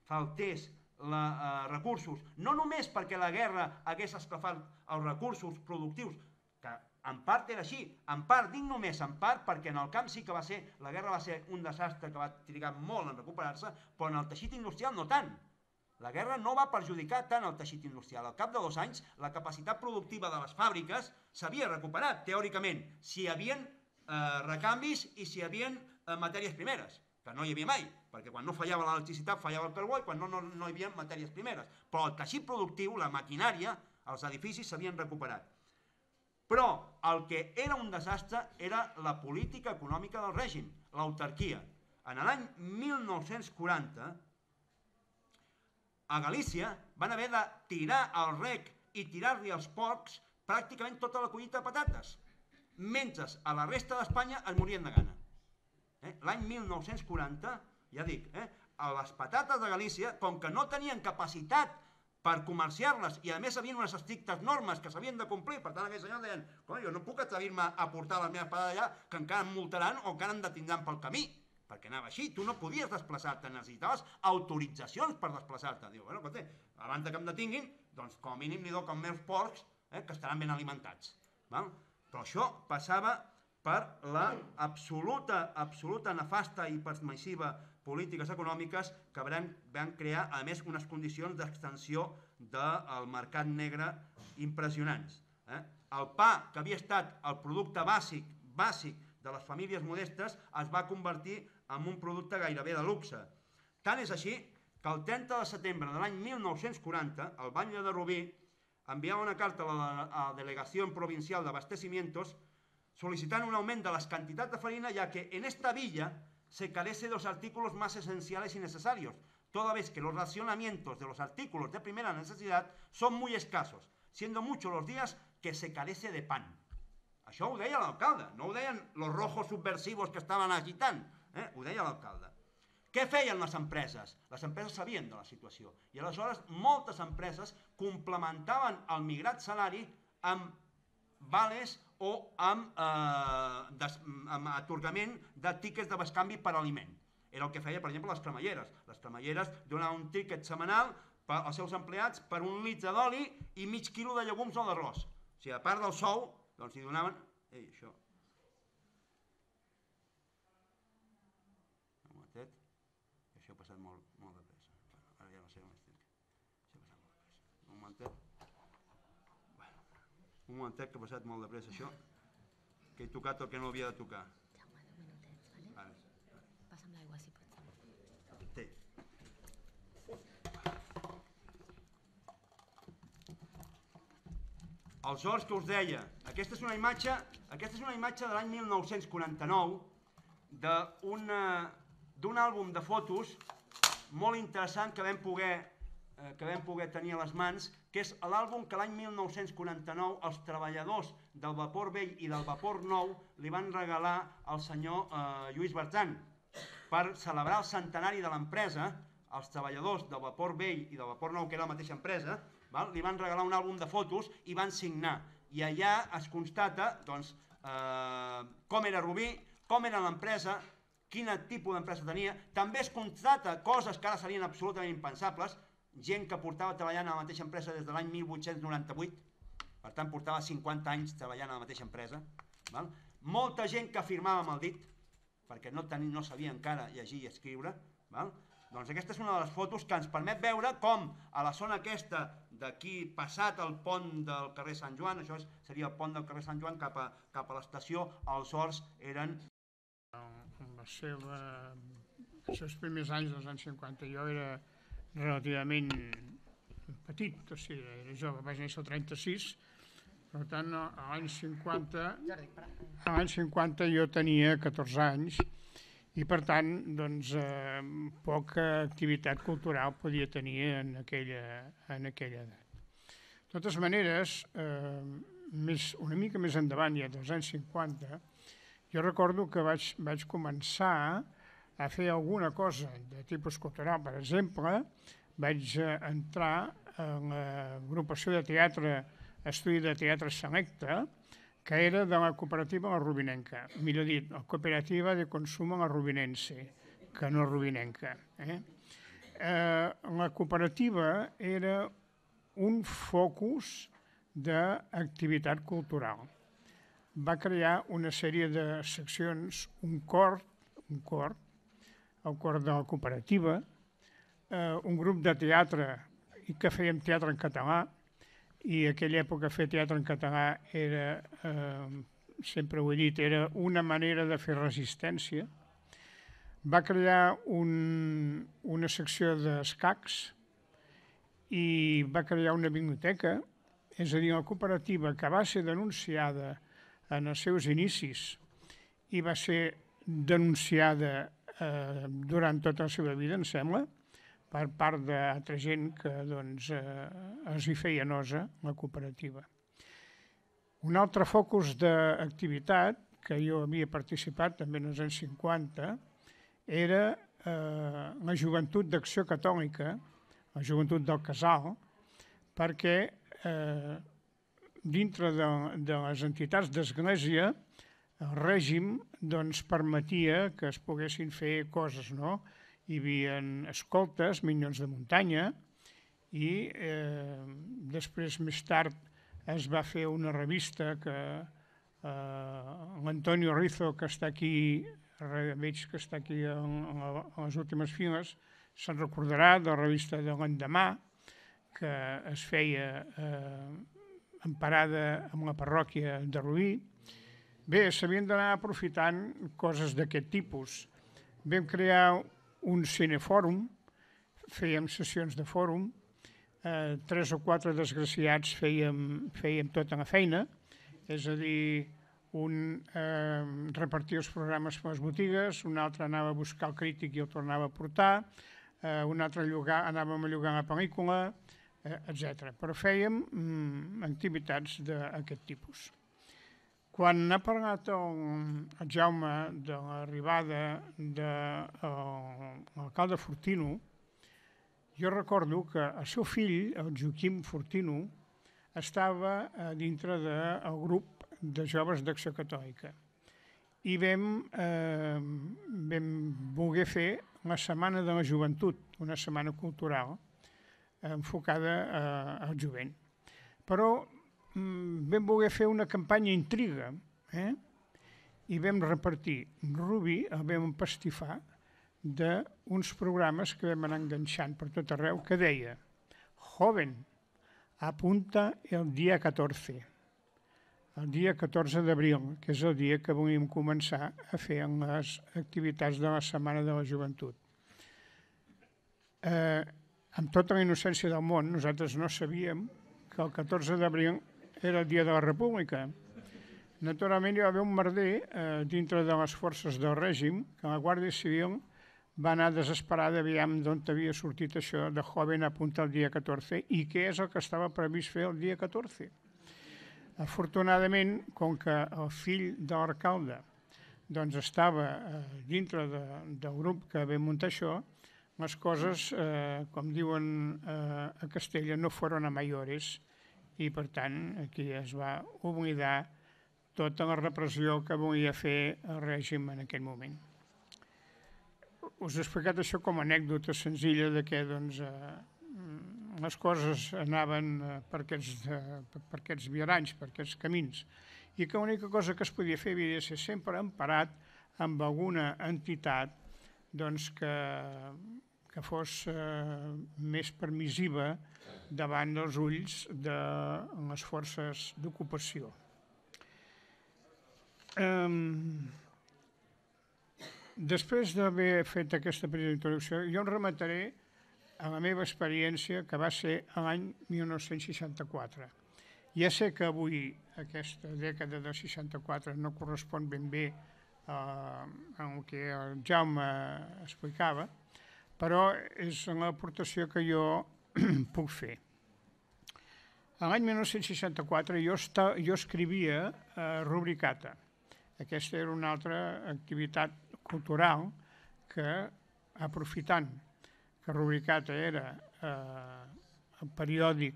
faltés la, eh, recursos, no només perquè la guerra hagués esclafat els recursos productius, que en part era així, en part, dic només en part, perquè en el camp sí que va ser, la guerra va ser un desastre que va trigar molt en recuperar-se, però en el teixit industrial no tant. La guerra no va perjudicar tant el teixit industrial. Al cap de dos anys, la capacitat productiva de les fàbriques s'havia recuperat, teòricament, si hi havia eh, recanvis i si hi havia eh, matèries primeres, que no hi havia mai, perquè quan no fallava l'electricitat fallava el carbó i quan no, no, no hi havia matèries primeres. Però el teixit productiu, la maquinària, els edificis s'havien recuperat. Però el que era un desastre era la política econòmica del règim, l'autarquia. En l'any mil nou-cents quaranta, a Galícia van haver de tirar al rec i tirar-li als porcs pràcticament tota la collita de patates, mentre a la resta d'Espanya es morien de gana. Eh? L'any mil nou-cents quaranta, ja dic, eh? a les patates de Galícia, com que no tenien capacitat per comerciar-les i a més havien unes estrictes normes que s'havien de complir, per tant aquells senyors deien, jo no puc atrevir-me a portar les meves patates allà que encara em multaran o encara em detindran pel camí. Perquè anava així, tu no podies desplaçar-te, necessitaves autoritzacions per desplaçar-te. Diu, bueno, escolta, abans que em detinguin, doncs com a mínim li doc als meus porcs eh, que estaran ben alimentats. Val? Però això passava per la absoluta, absoluta nefasta i permissiva polítiques econòmiques que van, van crear, a més, unes condicions d'extensió del mercat negre impressionants. Eh? El pa, que havia estat el producte bàsic, bàsic de les famílies modestes, es va convertir en un producte gairebé de luxe. Tant és així que el trenta de setembre de l'any mil nou-cents quaranta, el batlle de Rubí enviava una carta a la, a la Delegació Provincial d'Abastecimientos solicitant un augment de las cantidades de farina, ya que en esta villa se carece de los artículos más esenciales y necesarios, toda vez que los racionamientos de los artículos de primera necesidad son muy escasos, siendo muchos los días que se carece de pan. Això ho deia l'alcalde, no ho deien los rojos subversivos que estaven agitant, eh? Ho deia l'alcalde. Què feien les empreses? Les empreses sabien de la situació i aleshores moltes empreses complementaven el migrat salari amb vales o amb, eh, des, amb atorgament de tíquets de bescanvi per aliment. Era el que feia, per exemple, les cremalleres. Les cremalleres donaven un tíquet setmanal als seus empleats per un litre d'oli i mig quilo de llegums o d'arròs. O sigui, a part del sou, doncs hi donaven... Ei, això... Un momentet, que això ha passat molt, molt de pressa. Ara ja no sé on estic. Això ha passat molt de pressa. Un momentet. Un momentet que ha passat molt de pressa, això. Que he tocat el que no havia de tocar. Jaume, deu minutets, vale? Vale. Passa'm l'aigua, si pots. Té. Els horts que us deia, aquesta és una imatge, aquesta és una imatge de l'any mil nou-cents quaranta-nou d'un àlbum de fotos molt interessant que vam poder, eh, que vam poder tenir a les mans, que és l'àlbum que l'any mil nou-cents quaranta-nou els treballadors del vapor vell i del vapor nou li van regalar al senyor eh, Lluís Bertran per celebrar el centenari de l'empresa. Els treballadors del vapor vell i del vapor nou, que era la mateixa empresa, val? Li van regalar un àlbum de fotos i van signar. I allà es constata doncs, eh, com era Rubí, com era l'empresa, quin tipus d'empresa tenia. També es constata coses que ara serien absolutament impensables, gent que portava treballant a la mateixa empresa des de l'any mil vuit-cents noranta-vuit, per tant portava cinquanta anys treballant a la mateixa empresa. Val? Molta gent que firmava amb el dit, perquè no, tenia, no sabia encara llegir i escriure. Val? Doncs aquesta és una de les fotos que ens permet veure com a la zona aquesta d'aquí passat el pont del carrer Sant Joan, això seria el pont del carrer Sant Joan cap a, cap a l'estació, els horts eren... En la seva, els seus primers anys dels anys cinquanta jo era relativament petit, o sigui, era jove, vaig néixer el trenta-sis, per tant a l'any cinquanta, a l'any cinquanta jo tenia catorze anys i per tant doncs, eh, poca activitat cultural podia tenir en aquella, en aquella edat. De totes maneres, eh, més, una mica més endavant, ja dels anys cinquanta, jo recordo que vaig, vaig començar a fer alguna cosa de tipus cultural. Per exemple, vaig entrar en l'agrupació de teatre, estudi de teatre Selecta, que era de la cooperativa La Rubinenca, millor dit, la cooperativa de consum La Rubinense, que no Rubinenca. Eh? Eh, la cooperativa era un focus d'activitat cultural. Va crear una sèrie de seccions, un cor, un cor, el cor de la cooperativa, eh, un grup de teatre, i que fèiem teatre en català, i en aquella època fer teatre en català era, eh, sempre ho he dit, era una manera de fer resistència. Va crear un, una secció d'escacs i va crear una biblioteca, és a dir, la cooperativa que va ser denunciada en els seus inicis i va ser denunciada eh, durant tota la seva vida, em sembla, per part d'altra gent que doncs, eh, es hi feia nosa, la cooperativa. Un altre focus d'activitat que jo havia participat també en els anys cinquanta era eh, la joventut d'Acció Catòlica, la joventut del Casal, perquè eh, dintre de, de les entitats d'església el règim doncs, permetia que es poguessin fer coses, no? Hi havia escoltes, minyons de muntanya, i eh, després, més tard, es va fer una revista que eh, l'Antonio Rizo, que està aquí, veig que està aquí en, en les últimes files, se'n recordarà de la revista de l'endemà, que es feia eh, emparada amb la parròquia de Rubí. Bé, s'havien d'anar aprofitant coses d'aquest tipus. Vam crear un cinefòrum, fèiem sessions de fòrum, eh, tres o quatre desgraciats fèiem, fèiem tota la feina, és a dir, un eh, repartia els programes per les botigues, un altre anava a buscar el crític i el tornava a portar, un altre llogar, anàvem a llogar una pel·lícula, etcètera. Però fèiem activitats d'aquest tipus. Quan ha parlat el Jaume de l'arribada de l'alcalde Fortino, jo recordo que el seu fill, el Joaquim Fortino, estava dintre del grup de joves d'Acció Catòlica i vam voler fer la Setmana de la Joventut, una setmana cultural enfocada al jovent. Però vam voler fer una campanya intriga i vam repartir Rubí, el vam empastifar d'uns programes que vam anar enganxant per tot arreu, que deia: Joven, apunta el dia catorze, el dia catorze d'abril, que és el dia que volíem començar a fer les activitats de la Setmana de la Joventut. Amb tota la innocència del món, nosaltres no sabíem que el catorze d'abril era el dia de la República. Naturalment hi va haver un merder dintre de les forces del règim, que la Guàrdia Civil va anar desesperada aviam d'on havia sortit això de joven apunta el dia catorze i què és el que estava previst fer el dia catorze. Afortunadament, com que el fill de l'alcalde estava dintre del grup que vam muntar això, les coses, com diuen a Castella, no foren a mayores i, per tant, aquí es va oblidar tota la repressió que volia fer el règim en aquell moment. Us he explicat això com a anècdota senzilla de que les coses anaven per aquests viaranys, per aquests camins, i que l'única cosa que es podia fer havia de ser sempre emparat amb alguna entitat que fos més permissiva davant dels ulls de les forces d'ocupació. Després d'haver fet aquesta petita introducció, jo em remetré a la meva experiència, que va ser l'any mil nou-cents seixanta-quatre. Ja sé que avui aquesta dècada del seixanta-quatre no correspon ben bé al que el Jaume explicava, però és l'aportació que jo puc fer. L'any mil nou-cents seixanta-quatre jo escrivia Rubricata. Aquesta era una altra activitat cultural que, aprofitant que Rubricata era el periòdic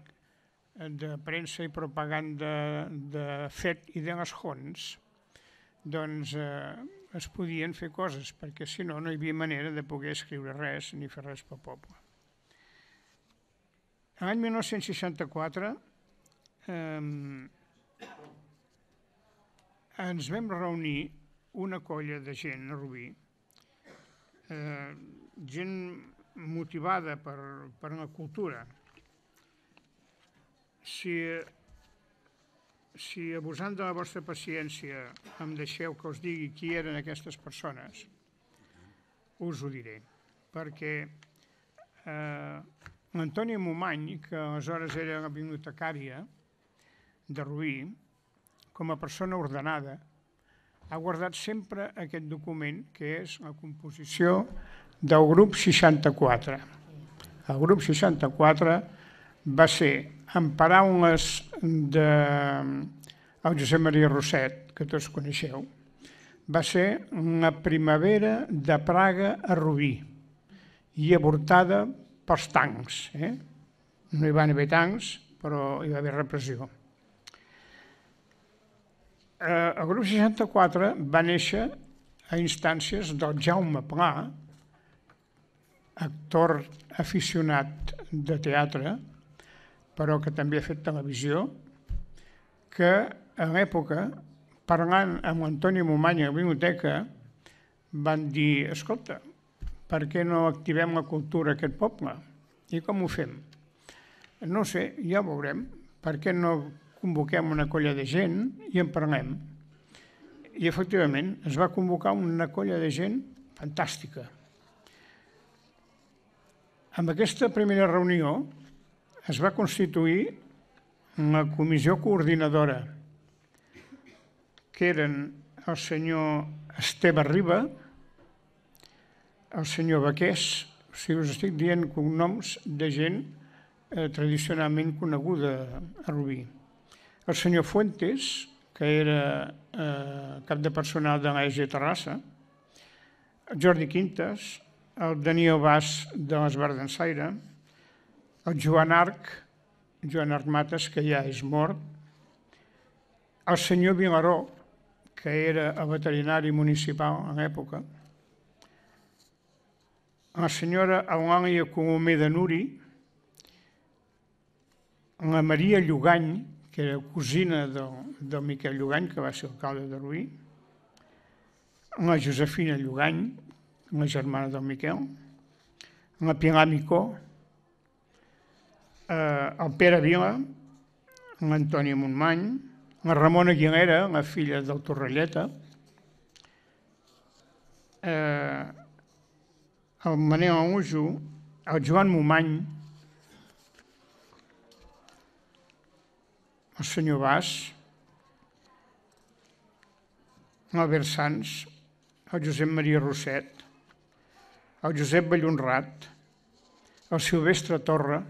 de premsa i propaganda de Fet i de les Jons, doncs es podien fer coses, perquè si no, no hi havia manera de poder escriure res ni fer res pel poble. L'any mil nou-cents seixanta-quatre ens vam reunir una colla de gent a Rubí, gent motivada per la cultura. Si abusant de la vostra paciència em deixeu que us digui qui eren aquestes persones, us ho diré, perquè l'Antònia Momany, que aleshores era la bibliotecària de Rubí, com a persona ordenada, ha guardat sempre aquest document, que és la composició del grup seixanta-quatre. El grup seixanta-quatre va ser, en paraules del Josep Maria Rosset, que tots coneixeu, va ser la primavera de Praga a Rubí i avortada pels tancs. No hi van haver tancs, però hi va haver repressió. El grup seixanta-quatre va néixer a instàncies del Jaume Pla, actor aficionat de teatre, però que també ha fet televisió, que a l'època, parlant amb l'Antoni Momany a la biblioteca, van dir: escolta, per què no activem la cultura a aquest poble? I com ho fem? No sé, ja ho veurem. Per què no convoquem una colla de gent i en parlem? I efectivament es va convocar una colla de gent fantàstica. Amb aquesta primera reunió es va constituir la comissió coordinadora, que eren el senyor Esteve Riba, el senyor Baqués O sigui, us estic dient cognoms de gent tradicionalment coneguda a Rubí. El senyor Fuentes, que era cap de personal de l'E G Terrassa, el Jordi Quintas, el Daniel Bas de l'Esbar d'Ensaire, el Joan Arc, Joan Arc Mates, que ja és mort, el senyor Vilaró, que era el veterinari municipal a l'època, la senyora Eulàlia Colomer de Nuri, la Maria Llogany, que era cosina del Miquel Llogany, que va ser alcalde de Rubí, la Josefina Llogany, la germana del Miquel, la Pilar Micó, el Pere Vila, l'Antònia Montmany, la Ramona Aguilera, la filla del Torrelleta, el Manel Amujo, el Joan Momany, el senyor Bas, l'Albert Sans, el Josep Maria Rosset, el Josep Ballonrat, el Silvestre Torra,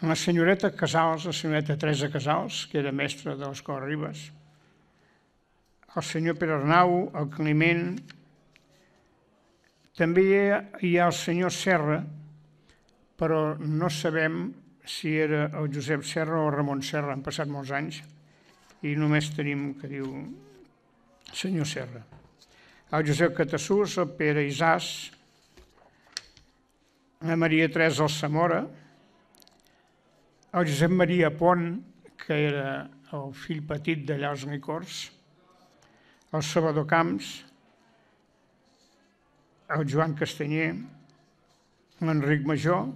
la senyoreta Casals, la senyoreta Teresa Casals, que era mestra de l'Escola Ribes, el senyor Pere Arnau, el Climent, també hi ha el senyor Serra, però no sabem si era el Josep Serra o el Ramon Serra, han passat molts anys i només tenim que diu senyor Serra. El Josep Catassús, el Pere Isàs, la Maria Teresa Alsamora, el Josep Maria Pont, que era el fill petit d'allà als Licors, el Salvador Camps, el Joan Castanyer, l'Enric Major,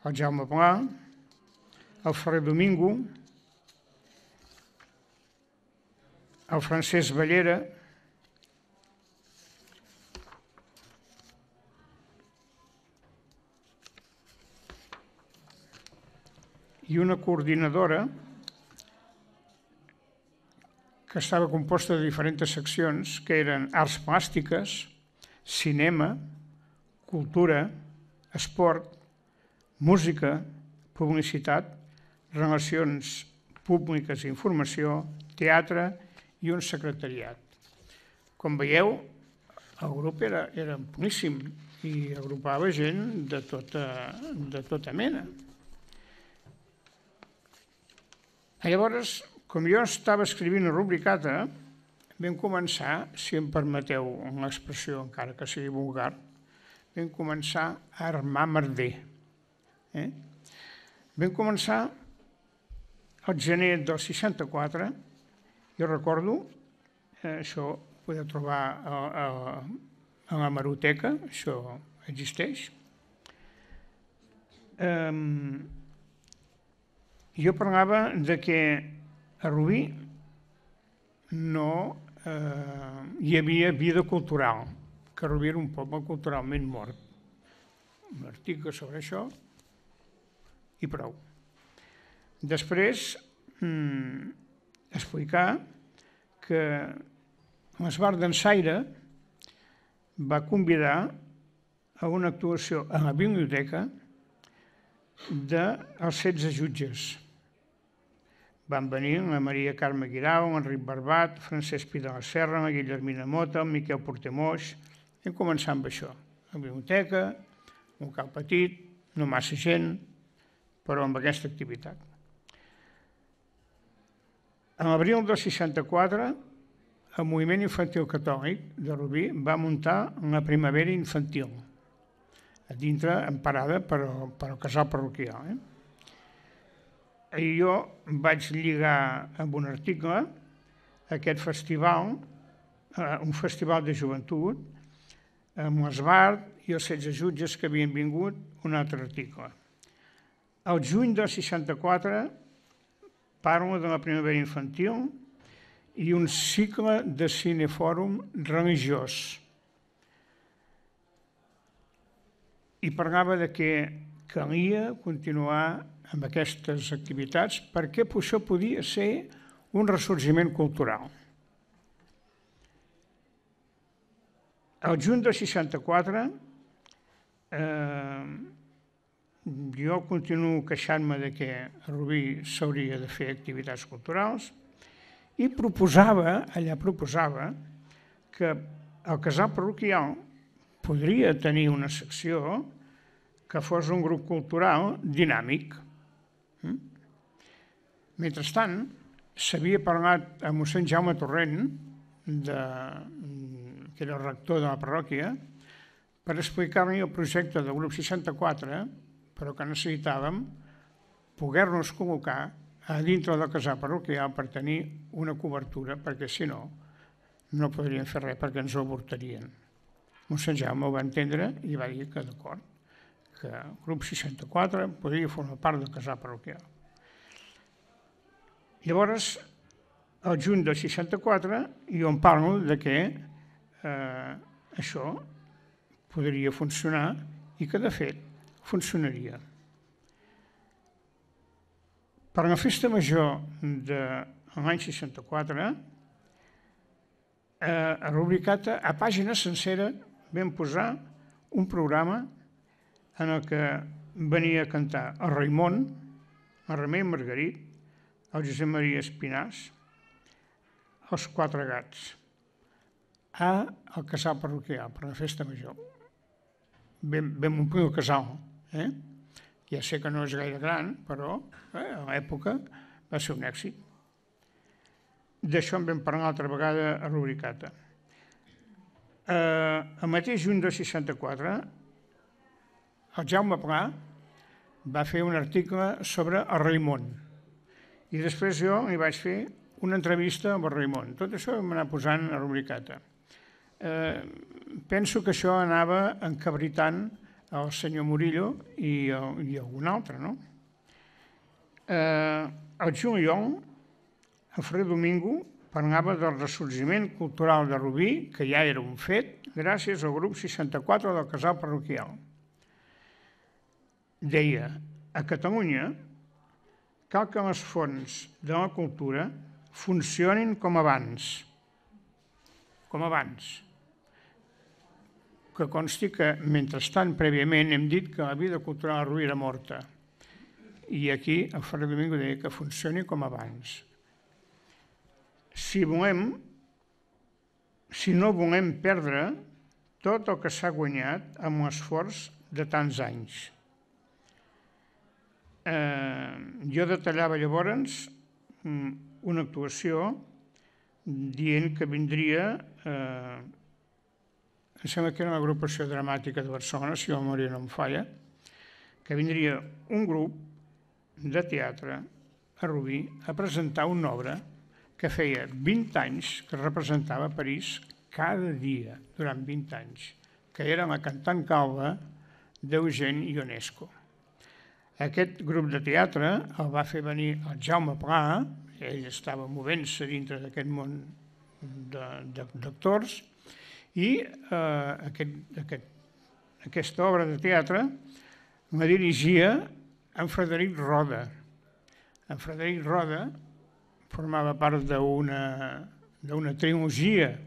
el Jaume Pla, el Ferrer Domingo, el Francesc Ballera, i una coordinadora que estava composta de diferents seccions, que eren arts plàstiques, cinema, cultura, esport, música, publicitat, relacions públiques i informació, teatre i un secretariat. Com veieu, el grup era amplíssim i agrupava gent de tota mena. Llavors, com jo estava escrivint a Rubricata, vam començar, si em permeteu l'expressió, encara que sigui vulgar, vam començar a armar merder. Vam començar el gener del seixanta-quatre, jo recordo, això ho podeu trobar a la Hemeroteca, això existeix. Jo parlava que a Rubí no hi havia vida cultural, que Rubí era un poble culturalment mort. Un article sobre això i prou. Després, explicar que l'Esbar d'Ensaire va convidar a una actuació a la biblioteca dels setze jutges. Van venir la Maria Carme Guirao, l'Enric Barbat, Francesc Pi de la Serra, la Guillermina Mota, el Miquel Portemoix. Vam començar amb això. La biblioteca, un local petit, no massa gent, però amb aquesta activitat. En l'abril del seixanta-quatre, el moviment infantil catòlic de Rubí va muntar la primavera infantil, a dintre, emparada per al casal parroquial. I jo vaig lligar amb un article aquest festival, un festival de joventut, amb l'Esbar i els setze jutges que havien vingut, un altre article. El juny del seixanta-quatre parla de la primavera infantil i un cicle de cinefòrum religiós. I parlava que calia continuar amb aquestes activitats perquè això podia ser un ressorgiment cultural. Al juny del seixanta-quatre jo continuo queixant-me que a Rubí s'hauria de fer activitats culturals i proposava, allà proposava, que el casal parroquial podria tenir una secció que fos un grup cultural dinàmic. Mentrestant, s'havia parlat amb mossèn Jaume Torrent, que era el rector de la parròquia, per explicar-li el projecte del grup seixanta-quatre, però que necessitàvem poder-nos col·locar a dintre del casal parroquial per tenir una cobertura, perquè si no, no podríem fer res perquè ens ho avortarien. Mossèn Jaume ho va entendre i va dir que d'acord, que el grup seixanta-quatre podria formar part del casal parroquial. Llavors, al juny del seixanta-quatre, jo em parlo de que això podria funcionar i que, de fet, funcionaria. Per la festa major de l'any seixanta-quatre, a Rubricata, a pàgina sencera, vam posar un programa en el que venia a cantar el Raimon, el Remei Margarit, el Josep Maria Espinàs, els Quatre Gats, al casal parroquial, per la festa major. Vam omplir el casal. Ja sé que no és gaire gran, però a l'època va ser un èxit. D'això en vam parlar altra vegada a Rubricata. El mateix juny del seixanta-quatre, el Jaume Pla va fer un article sobre el Raimon i després jo li vaig fer una entrevista amb el Raimon. Tot això ho vam anar posant a Rubricata. Penso que això anava encabritant el senyor Murillo i algun altre, no? El juliol, el Frer Domingo parlava del ressorgiment cultural de Rubí, que ja era un fet, gràcies al grup seixanta-quatre del casal parroquial. Deia, a Catalunya cal que les fonts de la cultura funcionin com abans. Com abans. Que consti que, mentrestant, prèviament, hem dit que la vida cultural a Rubí era morta. I aquí el Ferrer Domingo deia que funcioni com abans. Si volem, si no volem perdre tot el que s'ha guanyat amb l'esforç de tants anys. Jo detallava llavors una actuació dient que vindria, em sembla que era l'agrupació dramàtica de Barcelona, si la memòria no em falla, que vindria un grup de teatre a Rubí a presentar una obra que feia vint anys que representava París cada dia, durant vint anys, que era la cantant calba d'Eugène Ionesco. Aquest grup de teatre el va fer venir el Jaume Pla, ell estava movent-se dintre d'aquest món d'actors, i aquesta obra de teatre la dirigia en Frederic Roda. En Frederic Roda formava part d'una trilogia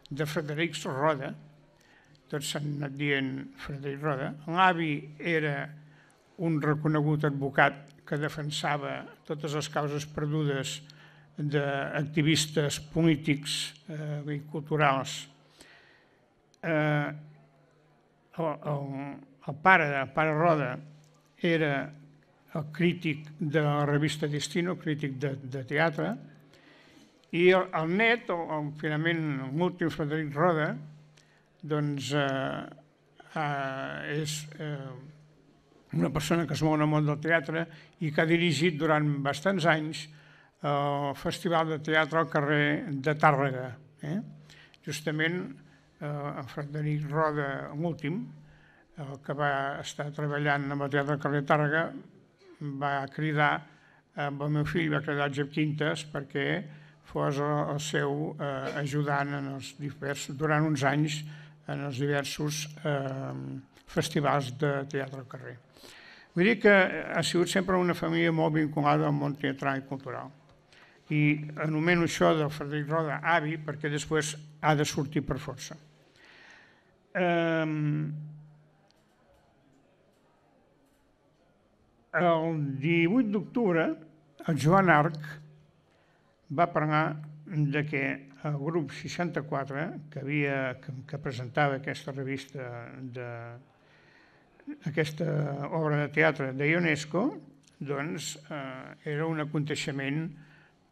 de Frederics Roda, tots s'han anat dient Frederic Roda. L'avi era un reconegut advocat que defensava totes les causes perdudes d'activistes polítics i culturals. El pare, el pare Roda, era el crític de la revista Destino, crític de teatre, i el net, finalment l'últim Frederic Roda, doncs és una persona que es mou en el món del teatre i que ha dirigit durant bastants anys el Festival de Teatre al carrer de Tàrrega. Justament el Frederic Roda, l'últim, el que va estar treballant amb el Teatre al carrer de Tàrrega, va cridar amb el meu fill, va cridar el Jep Quintes perquè fos el seu ajudant durant uns anys en els diversos festivals de teatre al carrer. Vull dir que ha sigut sempre una família molt vinculada al món teatral i cultural. I anomeno això del Frederic Roda avi perquè després ha de sortir per força. El divuit d'octubre, el Joan Arc va parlar de que el grup seixanta-quatre, que, havia, que, que presentava aquesta revista, de, aquesta obra de teatre de Ionesco, doncs eh, era un aconteixement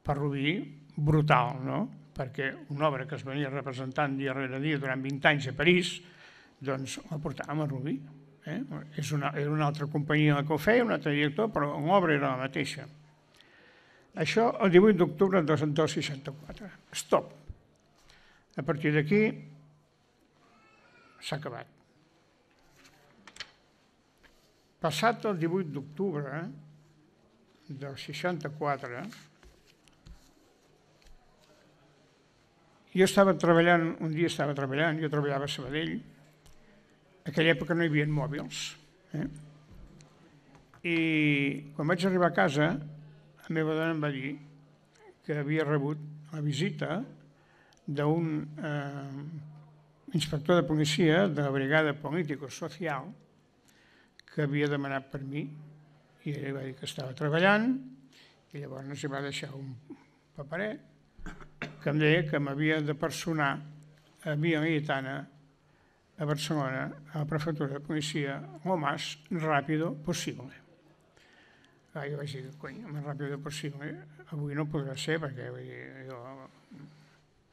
per Rubí brutal, no? Perquè una obra que es venia representant dia rere dia durant vint anys a París, doncs la portàvem a Rubí. Eh? És una, era una altra companyia que ho feia, un altre director, però l'obra era la mateixa. Això el divuit d'octubre del seixanta-quatre. Stop. A partir d'aquí s'ha acabat. Passat el divuit d'octubre del seixanta-quatre, jo estava treballant, un dia estava treballant, jo treballava a Sabadell, en aquella època no hi havia mòbils. Eh? I quan vaig arribar a casa, la meva dona em va dir que havia rebut la visita d'un eh, inspector de policia de la brigada político-social que havia demanat per mi, i ell va dir que estava treballant, i llavors hi va deixar un paperet que em deia que m'havia de personar a Via Laietana, a Barcelona, a la prefectura de policia, lo más rápido possible. Ah, jo vaig dir, cony, el més ràpid possible, avui no podrà ser perquè jo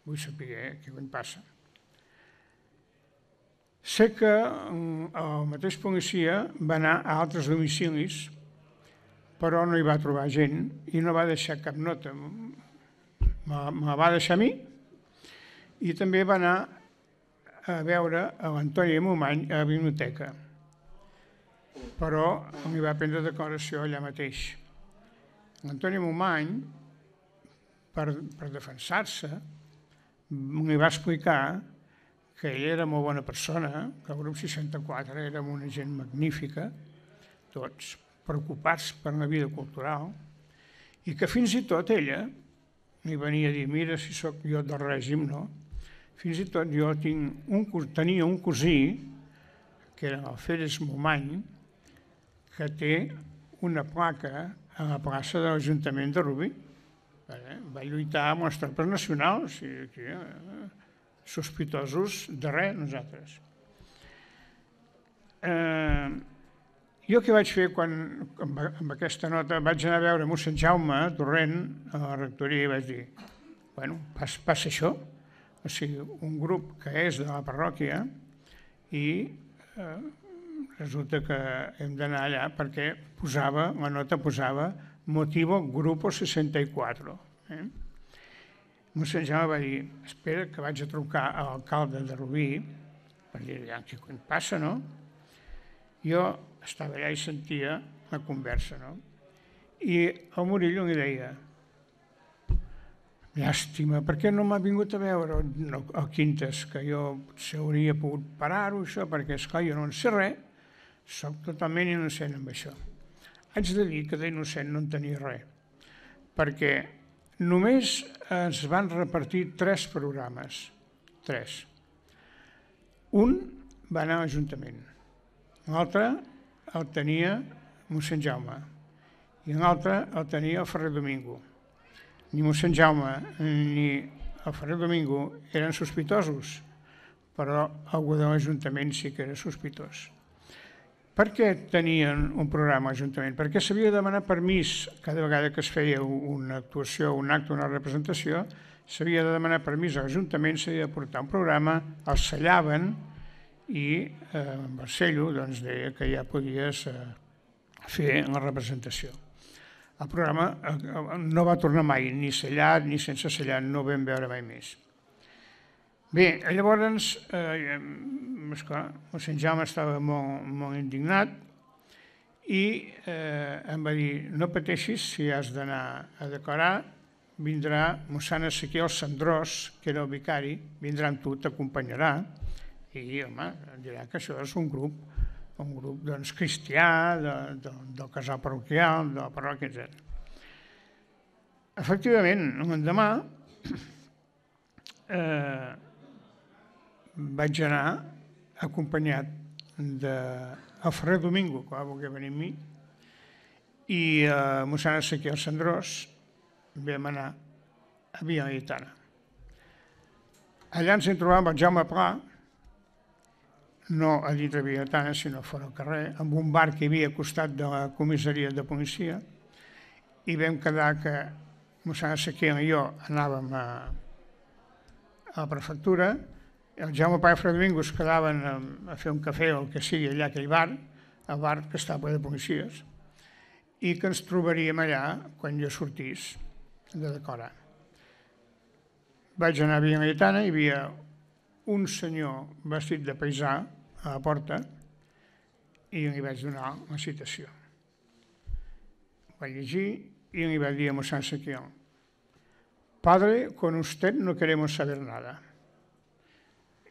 vull saber què em passa. Sé que el mateix policia va anar a altres domicilis, però no hi va trobar gent i no va deixar cap nota. Me va deixar a mi i també va anar a veure l'Antoni Momany a la biblioteca, però li va prendre declaració allà mateix. L'Antoni Momany, per, per defensar-se, li va explicar que ell era molt bona persona, que el grup seixanta-quatre era una gent magnífica, tots preocupats per la vida cultural, i que fins i tot ella li venia a dir, mira si sóc jo del règim, no? Fins i tot jo tinc un, tenia un cosí, que era el Férez Momany, que té una placa a la plaça de l'Ajuntament de Rubí. Va lluitar amb les tropes nacionals, sospitosos de res, nosaltres. Jo què vaig fer quan, amb aquesta nota, vaig anar a veure mossèn Jaume Torrent a la rectoria i vaig dir, bueno, passa això, o sigui, un grup que és de la parròquia i resulta que hem d'anar allà perquè posava, la nota posava motivo grupo seixanta-quatre. Mossèn Jaume va dir, espera que vaig a trucar a l'alcalde de Rubí per dir, què passa, no? Jo estava allà i sentia la conversa, no? I el Murillo li deia, llàstima, per què no m'ha vingut a veure el Quintes, que jo potser hauria pogut parar-ho, això, perquè, esclar, jo no en sé res, soc totalment innocent amb això. Haig de dir que d'innocent no en tenia res, perquè només es van repartir tres programes, tres. Un va anar a l'Ajuntament, l'altre el tenia mossèn Jaume i l'altre el tenia el Ferrer Domingo. Ni mossèn Jaume ni el Ferrer Domingo eren sospitosos, però algú de l'Ajuntament sí que era sospitós. Per què tenien un programa a l'Ajuntament? Perquè s'havia de demanar permís cada vegada que es feia una actuació, un acte, una representació, s'havia de demanar permís a l'Ajuntament, s'havia de portar un programa, el sellaven i Barcello deia que ja podies fer la representació. El programa no va tornar mai, ni sellat ni sense sellar, no ho vam veure mai més. Bé, llavors, esclar, mossèn Jaume estava molt indignat i em va dir, no pateixis, si has d'anar a declarar, vindrà mossèn Ezequiel Sandrós, que era el vicari, vindrà amb tu, t'acompanyarà, i, home, dirà que això és un grup, un grup doncs, cristià, del casal parroquial, de la parròquia, etcètera. Efectivament, l'endemà vaig anar acompanyat del Ferrer Domingo, que va voler venir amb mi, i a mossèn Ezequiel Cendrós vam anar a Via Laietana. Allà ens hi trobàvem el Jaume Pla, no a dintre de Via Laietana, sinó fora al carrer, amb un bar que hi havia al costat de la comissaria de policia, i vam quedar que mossèn Ezequiel i jo anàvem a, a la prefectura, el Jaume Pla i el Ferrer Domingo es quedaven a, a fer un cafè o el que sigui allà a aquell bar, el bar que estava ple de policies, i que ens trobaríem allà quan jo sortís de decorar. Vaig anar a Via Laietana, hi havia un senyor vestit de paisà a la porta i li vaig donar la citació. Vaig llegir i li vaig dir a mossèn Ezequiel: «Padre, con usted no queremos saber nada».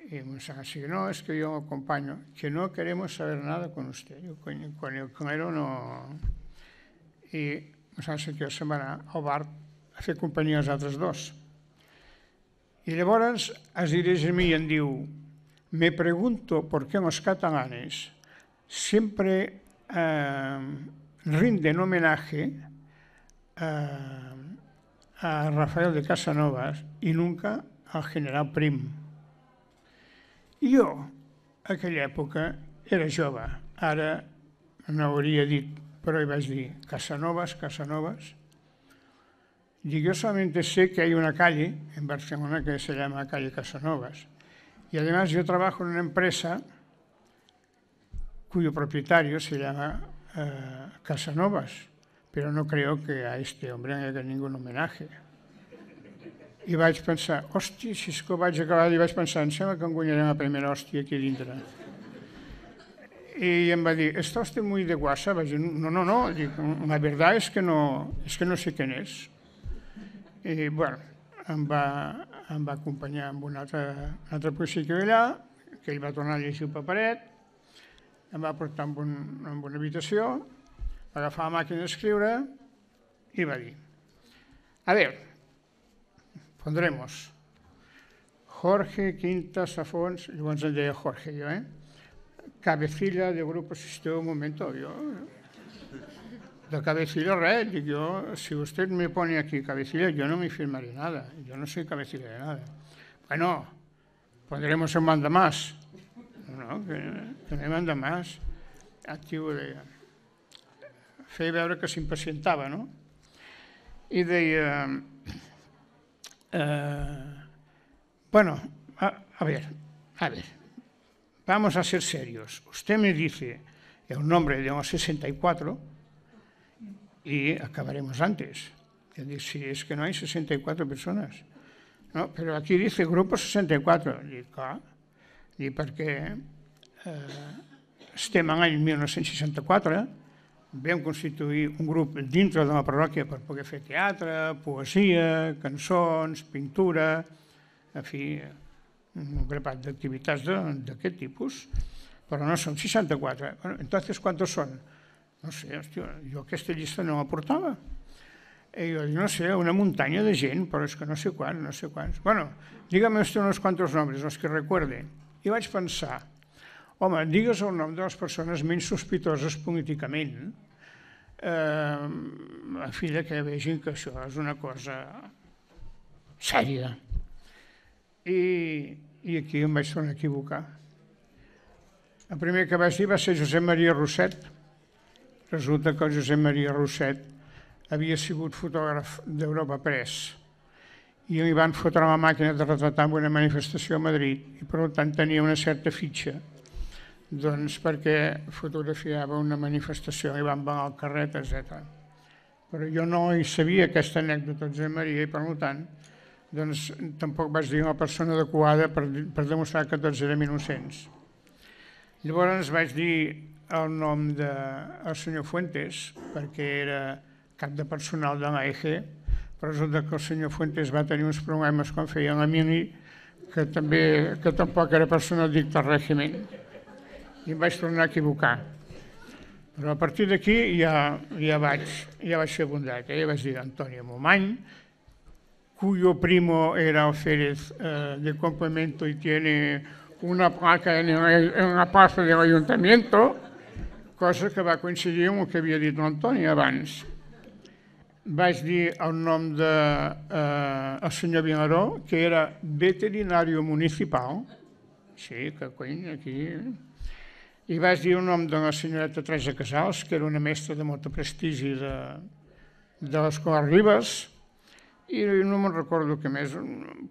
Y mossèn Ezequiel: «No, es que yo acompaño, que no queremos saber nada con usted, con, con el clero no». I mossèn Ezequiel se'n va anar al bar a fer companyia als altres dos. Y llavors es dirige a mí y em diu: «Me pregunto por qué los catalanes siempre eh, rinden homenaje a, a Rafael de Casanovas y nunca al general Prim». I jo, a aquella època, era jove, ara no hauria dit, pero iba a decir Casanovas, Casanovas. Y yo solamente sé que hay una calle en Barcelona que se llama calle Casanovas. Y además yo trabajo en una empresa cuyo propietario se llama eh, Casanovas, pero no creo que a este hombre no hagi ningún homenaje. I vaig pensar, hòstia, si és que vaig acabar, i vaig pensar, em sembla que em guanyaré la primera hòstia aquí dintre. Y em va dir, ¿está usted muy de guasa? Vaig dir, no, no, no, dic, la verdad es que no, es que no sé quién es. I, bueno, em va, em va acompanyar amb un altre, un altre policia que allà, que ell va tornar a llegir el paperet, em va portar en, un, en una habitació, va agafar la màquina d'escriure i va dir, a ver, pondremos Jorge Quintas Afons, llavors em deia Jorge jo, eh? Cabecilla de grupo, si un momento, yo, de cabecilla res, dic yo, si usted me pone aquí cabecilla, yo no me firmaré nada, yo no soy cabecilla de nada. Bueno, pondremos un manda más, no, que, que no hi manda más. Aquí ho deia. Feia veure que s'impacientava, no? I deia, eh, bueno, a, a ver, a ver, vamos a ser serios. Usted me dice el nombre de los sesenta y cuatro y acabaremos antes. Yo digo, sí, es que no hay sesenta y cuatro personas. No, pero aquí dice grupo sesenta y cuatro. Dic, clar, dic, perquè eh, estem en l'any mil nou-cents seixanta-quatre, vam constituir un grup dintre de la parròquia per poder fer teatre, poesia, cançons, pintura, en fi, un grapat d'activitats d'aquest tipus, però no són seixanta-quatre. Bueno, entonces, ¿cuántos son? No sé, hòstia, jo aquesta llista no la portava. I jo dic, no sé, una muntanya de gent, però és que no sé quants, no sé quants. Bueno, dígame usted unos cuantos nombres, los que recuerde. I vaig pensar, home, digues el nom de les persones menys sospitoses políticament, eh, a fi que vegin que això és una cosa sèria. I, i aquí em vaig tornar a equivocar. El primer que vaig dir va ser Josep Maria Rosset. Resulta que el Josep Maria Rosset havia sigut fotògraf d'Europa Press i li van fotre la màquina de retratar en una manifestació a Madrid i per tant tenia una certa fitxa doncs perquè fotografiava una manifestació i van vagar el carret, etcètera. Però jo no hi sabia aquesta anècdota de Josep Maria i per tant doncs tampoc vaig dir a la persona adequada per, per demostrar que tots érem innocents. Llavors vaig dir el nom del senyor Fuentes perquè era cap de personal de l'A E G, però resulta que el senyor Fuentes va tenir uns problemes quan feia la mini, que també que tampoc era personal dicta al règim, i em vaig tornar a equivocar. Però a partir d'aquí ja, ja, vaig, ja vaig fer bondat, eh? Ja vaig dir Antonio Momany, cuyo primo era alférez eh, de complemento y tiene una placa en, el, en la plaça de l'Ajuntament, cosa que va coincidir amb el que havia dit l'Antoni abans. Vaig dir el nom del eh, senyor Vilaró, que era veterinari municipal, sí, que cony, aquí... I vaig dir el nom de la senyoreta Teresa Casals, que era una mestra de molt prestigi de, de l'Escola Ribes, i no me'n recordo què més,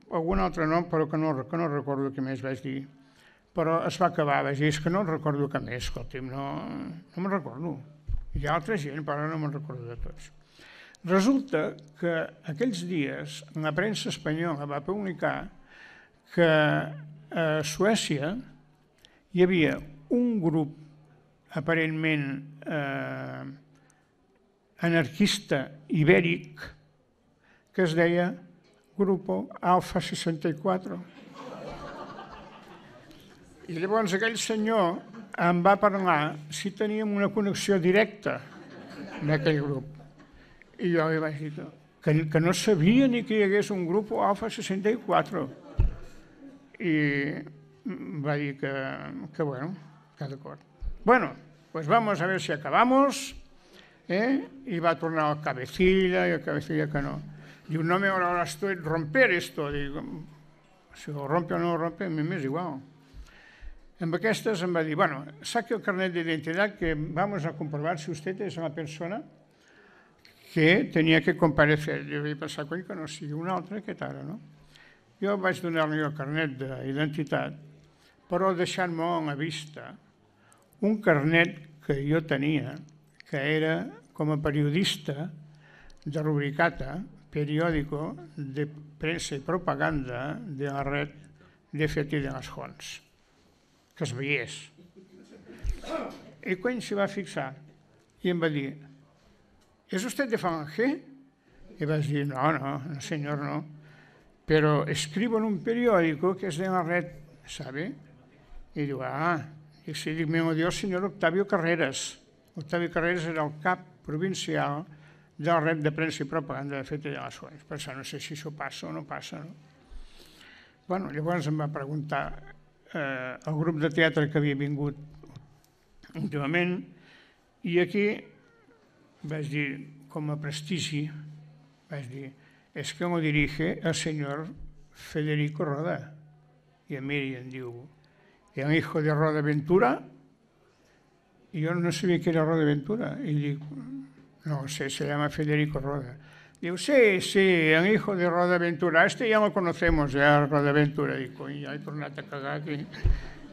algun altre nom, però que no, que no recordo què més vaig dir. Però es va acabar, vaig dir, és que no recordo què més, escolti'm, no, no me'n recordo. Hi ha altra gent, però no me'n recordo de tots. Resulta que aquells dies la premsa espanyola va publicar que a Suècia hi havia un grup aparentment eh, anarquista ibèric que es deia Grupo Alfa seixanta-quatre. I llavors aquell senyor em va parlar si teníem una connexió directa amb aquell grup. I jo li vaig dir que, que no sabia ni que hi hagués un grup Alfa seixanta-quatre. I va dir que, que bueno, que d'acord. Bueno, pues vamos a ver si acabamos. ¿eh? Y va a tornar al cabecilla, y el cabecilla que no. Diu, no me ahora estoy romper esto. Digo, si lo rompe o no lo rompe, a mi m'és igual. Amb aquestes em va dir, bueno, saque el carnet de identidad que vamos a comprobar si usted es una persona que tenia que comparecer. Jo vaig pensar, cony, que no sigui un altre aquest ara, no? Jo vaig donar-li el carnet d'identitat, però deixant-me a la vista un carnet que jo tenia, que era com a periodista de Rubricata, periòdico de premsa i propaganda de la red de Feti de les Fonts, que es veiés. I cony s'hi va fixar i em va dir, ¿es usted de Falange? I vaig dir, no, no, no senyor, no, pero escribo en un periódico que es de la red, ¿sabe? I diu, ah, i si dic, me odió el senyor Octavio Carreras. Octavio Carreras era el cap provincial de la red de premsa i propaganda de Feti de les Fonts. Per això no sé si això passa o no passa, no? Bueno, llavors em va preguntar eh, el grup de teatre que havia vingut últimament i aquí vaig dir, com a prestigi, vaig dir, es que lo dirige el señor Federico Roda. I em mira i em diu, el hijo de Roda Ventura? I jo no sabia que era Roda Ventura. I dic, no sé, se llama Federico Roda. Diu, sí, sí, el hijo de Roda Ventura. Este ya lo conocemos, ya, Roda Ventura. Dic, ja he tornat a cagar aquí.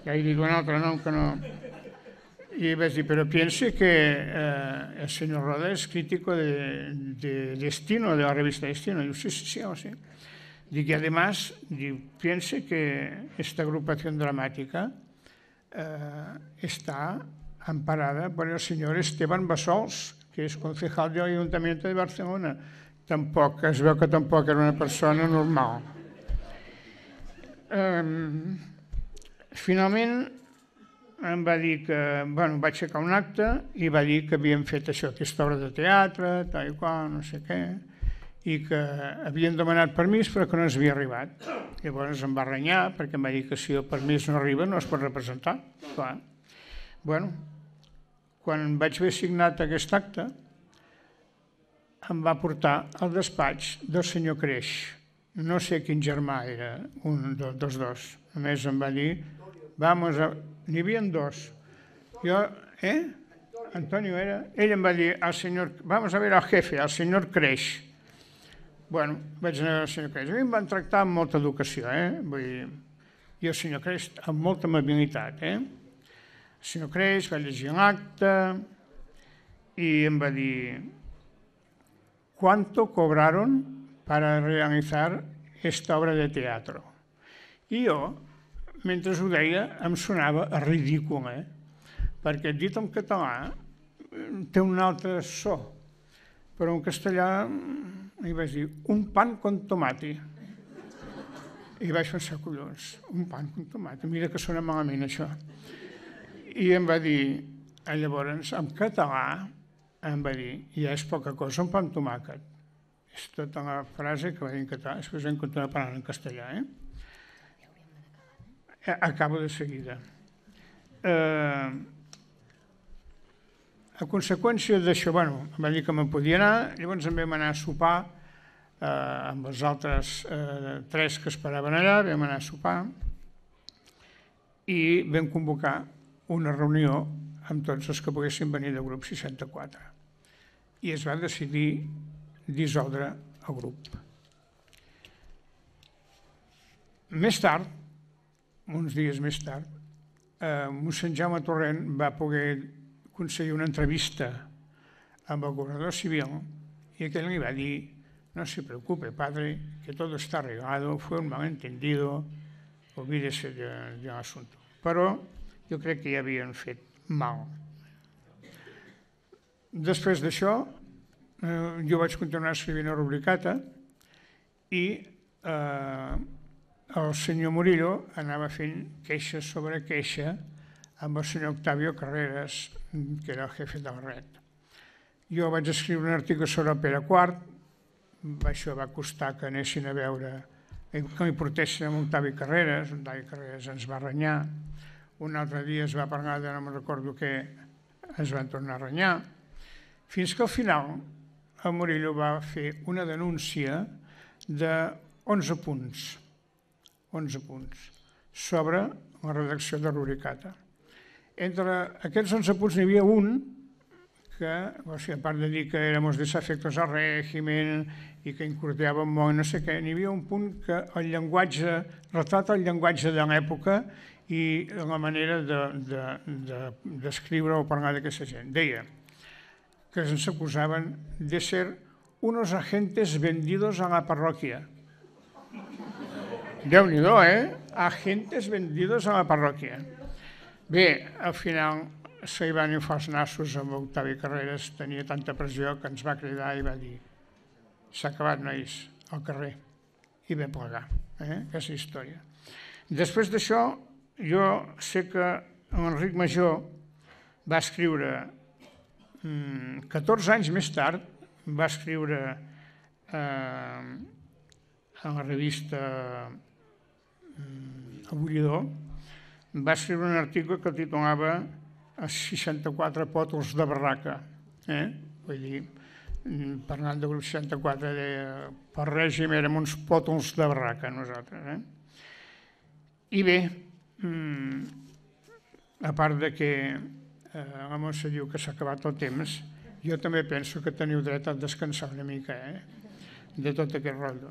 Ja he dit un altre nom que no... Y vaig dir, pero piense que eh, el señor Roda es crítico de, de Destino, de la revista Destino. Diu, sí, sí, sí, oh, sí. Dic, y además, diu, piense que esta agrupación dramática eh, está amparada por el señor Esteban Bassols, que és concejal del Ayuntamiento de Barcelona. Tampoc, es veu que tampoc era una persona normal. Um, finalment, em va dir que, bueno, vaig aixecar un acte i va dir que havíem fet això, aquesta obra de teatre, tal i qual, no sé què, i que havien demanat permís però que no ens havia arribat. Llavors em va renyar perquè em va dir que si el permís no arriba no es pot representar. Clar. Bueno, quan vaig haver signat aquest acte, em va portar al despatx del senyor Creix. No sé quin germà era, un dels dos. A més em va dir, vamos a... N'hi havia dos. Jo, eh? Antonio era... Ell em va dir al senyor... Vamos a ver al jefe, al senyor Creix. Bueno, vaig anar al senyor Creix. A mi em van tractar amb molta educació, eh? Vull dir, i el senyor Creix amb molta amabilitat, eh? El senyor Creix va llegir l'acte i em va dir ¿cuánto cobraron para realizar esta obra de teatro? I jo, mentre ho deia, em sonava ridícul, eh? Perquè dit en català té un altre so, però en castellà li vaig dir un pan con tomate. I vaig pensar, collons, un pan con tomate, mira que sona malament això. I em va dir, llavors, en català, em va dir, ja és poca cosa, un pa amb tomàquet. És tota la frase que va dir en català, després en continuar parlant en castellà, eh? acabo de seguida. Eh, a conseqüència d'això, bueno, em va dir que me'n podia anar, llavors em vam anar a sopar eh, amb els altres eh, tres que esperaven allà, vam anar a sopar i vam convocar una reunió amb tots els que poguessin venir del grup seixanta-quatre i es va decidir dissoldre el grup. Més tard, uns dies més tard, eh, mossèn Jaume Torrent va poder aconseguir una entrevista amb el governador civil y aquel le iba a decir, no se preocupe, padre, que todo está arreglado, fue un malentendido, olvídese del de asunto. Però jo crec que ja havien fet mal. Després d'això, eh, jo vaig continuar escrivint a Rubricata i eh, el senyor Murillo anava fent queixa sobre queixa amb el senyor Octavio Carreras, que era el jefe del R E T. Jo vaig escriure un article sobre Pere quart, això va costar que anessin a veure, que m'hi portessin amb Octavi Carreras, Octavi Carreras ens va renyar, un altre dia es va parlar de no me'n recordo què, ens van tornar a renyar, fins que al final el Murillo va fer una denúncia d'onze punts, onze punts, sobre la redacció de Rubricata. Entre aquests onze punts n'hi havia un que, o sigui, a part de dir que éramos desafectos al régimen i que incordiàvem molt, no sé què, n'hi havia un punt que el llenguatge, retrata el llenguatge de l'època i la manera d'escriure o parlar d'aquesta gent. Deia que ens acusaven de ser unos agentes vendidos a la parròquia. Déu-n'hi-do, eh? Agentes vendidos a la parròquia. Bé, al final se hi van inflar els nassos amb Octavi Carreras, tenia tanta pressió que ens va cridar i va dir s'ha acabat, nois, al carrer. I vam plegar, eh? Aquesta història. Després d'això, jo sé que l'Enric Major va escriure, catorze anys més tard, va escriure eh, a la revista El Bullidor, va escriure un article que titulava Els seixanta-quatre pòtols de barraca. Eh? Vull dir, parlant del grup seixanta-quatre, deia, per règim érem uns pòtols de barraca nosaltres. Eh? I bé, a part de que la Montse diu que s'ha acabat el temps, jo també penso que teniu dret a descansar una mica, eh? De tot aquest rotllo.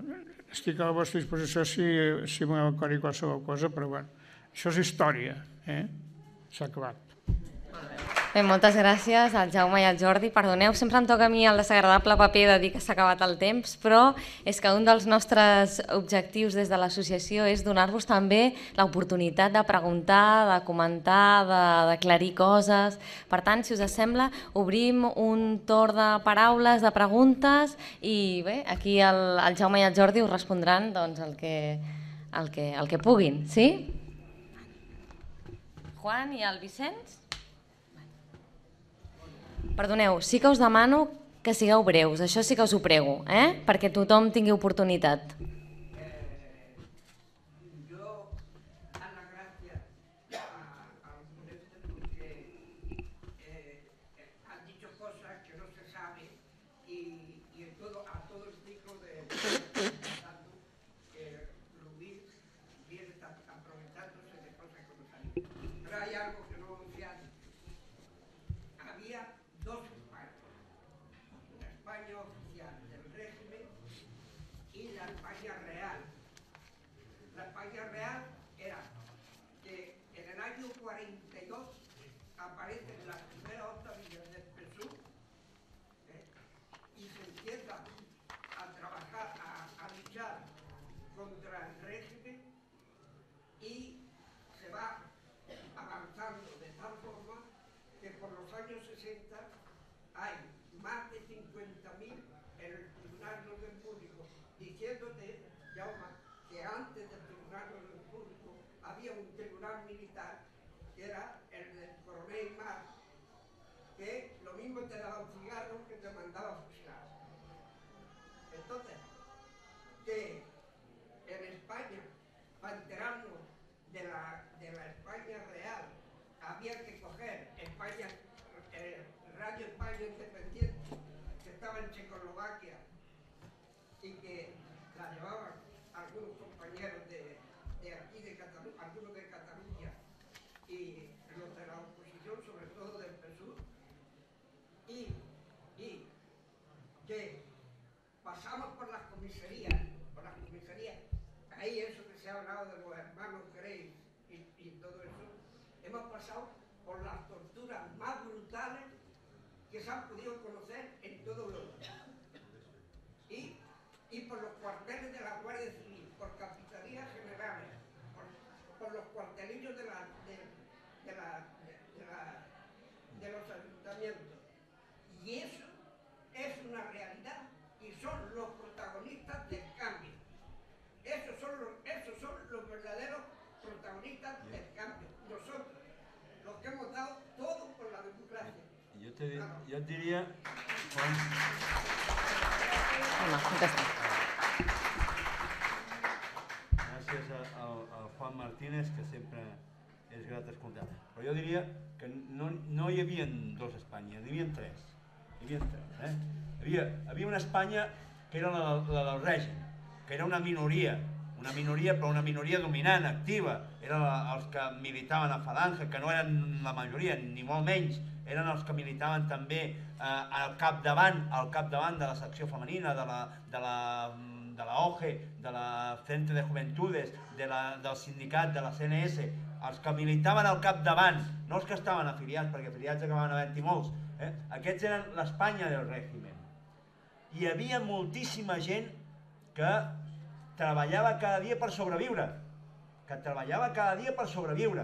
Estic a la vostra disposició si, si voleu aclarir qualsevol cosa, però bueno, això és història, eh? S'ha acabat. Bé, moltes gràcies al Jaume i al Jordi. Perdoneu, sempre em toca a mi el desagradable paper de dir que s'ha acabat el temps, però és que un dels nostres objectius des de l'associació és donar-vos també l'oportunitat de preguntar, de comentar, d'aclarir coses. Per tant, si us sembla, obrim un torn de paraules, de preguntes i bé, aquí el, el Jaume i el Jordi us respondran doncs, el, que, el, que, el que puguin, sí? Juan i el Vicenç? Perdoneu, sí que us demano que sigueu breus, això sí que us ho prego, eh? Perquè tothom tingui oportunitat. Que en España, para enterarnos de la comisaría, por las comisarías, ahí eso que se ha hablado de los hermanos Grey y, y todo eso, hemos pasado por las torturas más brutales que se han podido conocer en todo Europa. Y, y por los cuarteles de la Guardia Civil, por capitanías generales, por, por los cuartelillos de, la, de, de, la, de, de, la, de los ayuntamientos. Y eso es una realidad y son los protagonistas del cambio. Esos son los, esos son los verdaderos protagonistas del cambio. Nosotros, los que hemos dado todo por la democracia. Jo, te, jo et diria... Juan... Home, contesta. Gràcies al, al Juan Martínez, que sempre és grat escoltar. Però jo diria que no, no hi havia dos Espanyes, hi havia tres. Hi havia tres, eh? Hi havia, hi havia una Espanya que era la, la del règim, que era una minoria, una minoria però una minoria dominant, activa. Eren els que militaven a Falange, que no eren la majoria, ni molt menys, eren els que militaven també eh, al capdavant, al capdavant de la secció femenina, de la, de la, de la O G E, de la Frente de Juventudes, de la, del sindicat, de la C N S, els que militaven al capdavant, no els que estaven afiliats, perquè afiliats acabaven havent-hi molts, eh? Aquests eren l'Espanya del règim. Hi havia moltíssima gent que treballava cada dia per sobreviure, que treballava cada dia per sobreviure,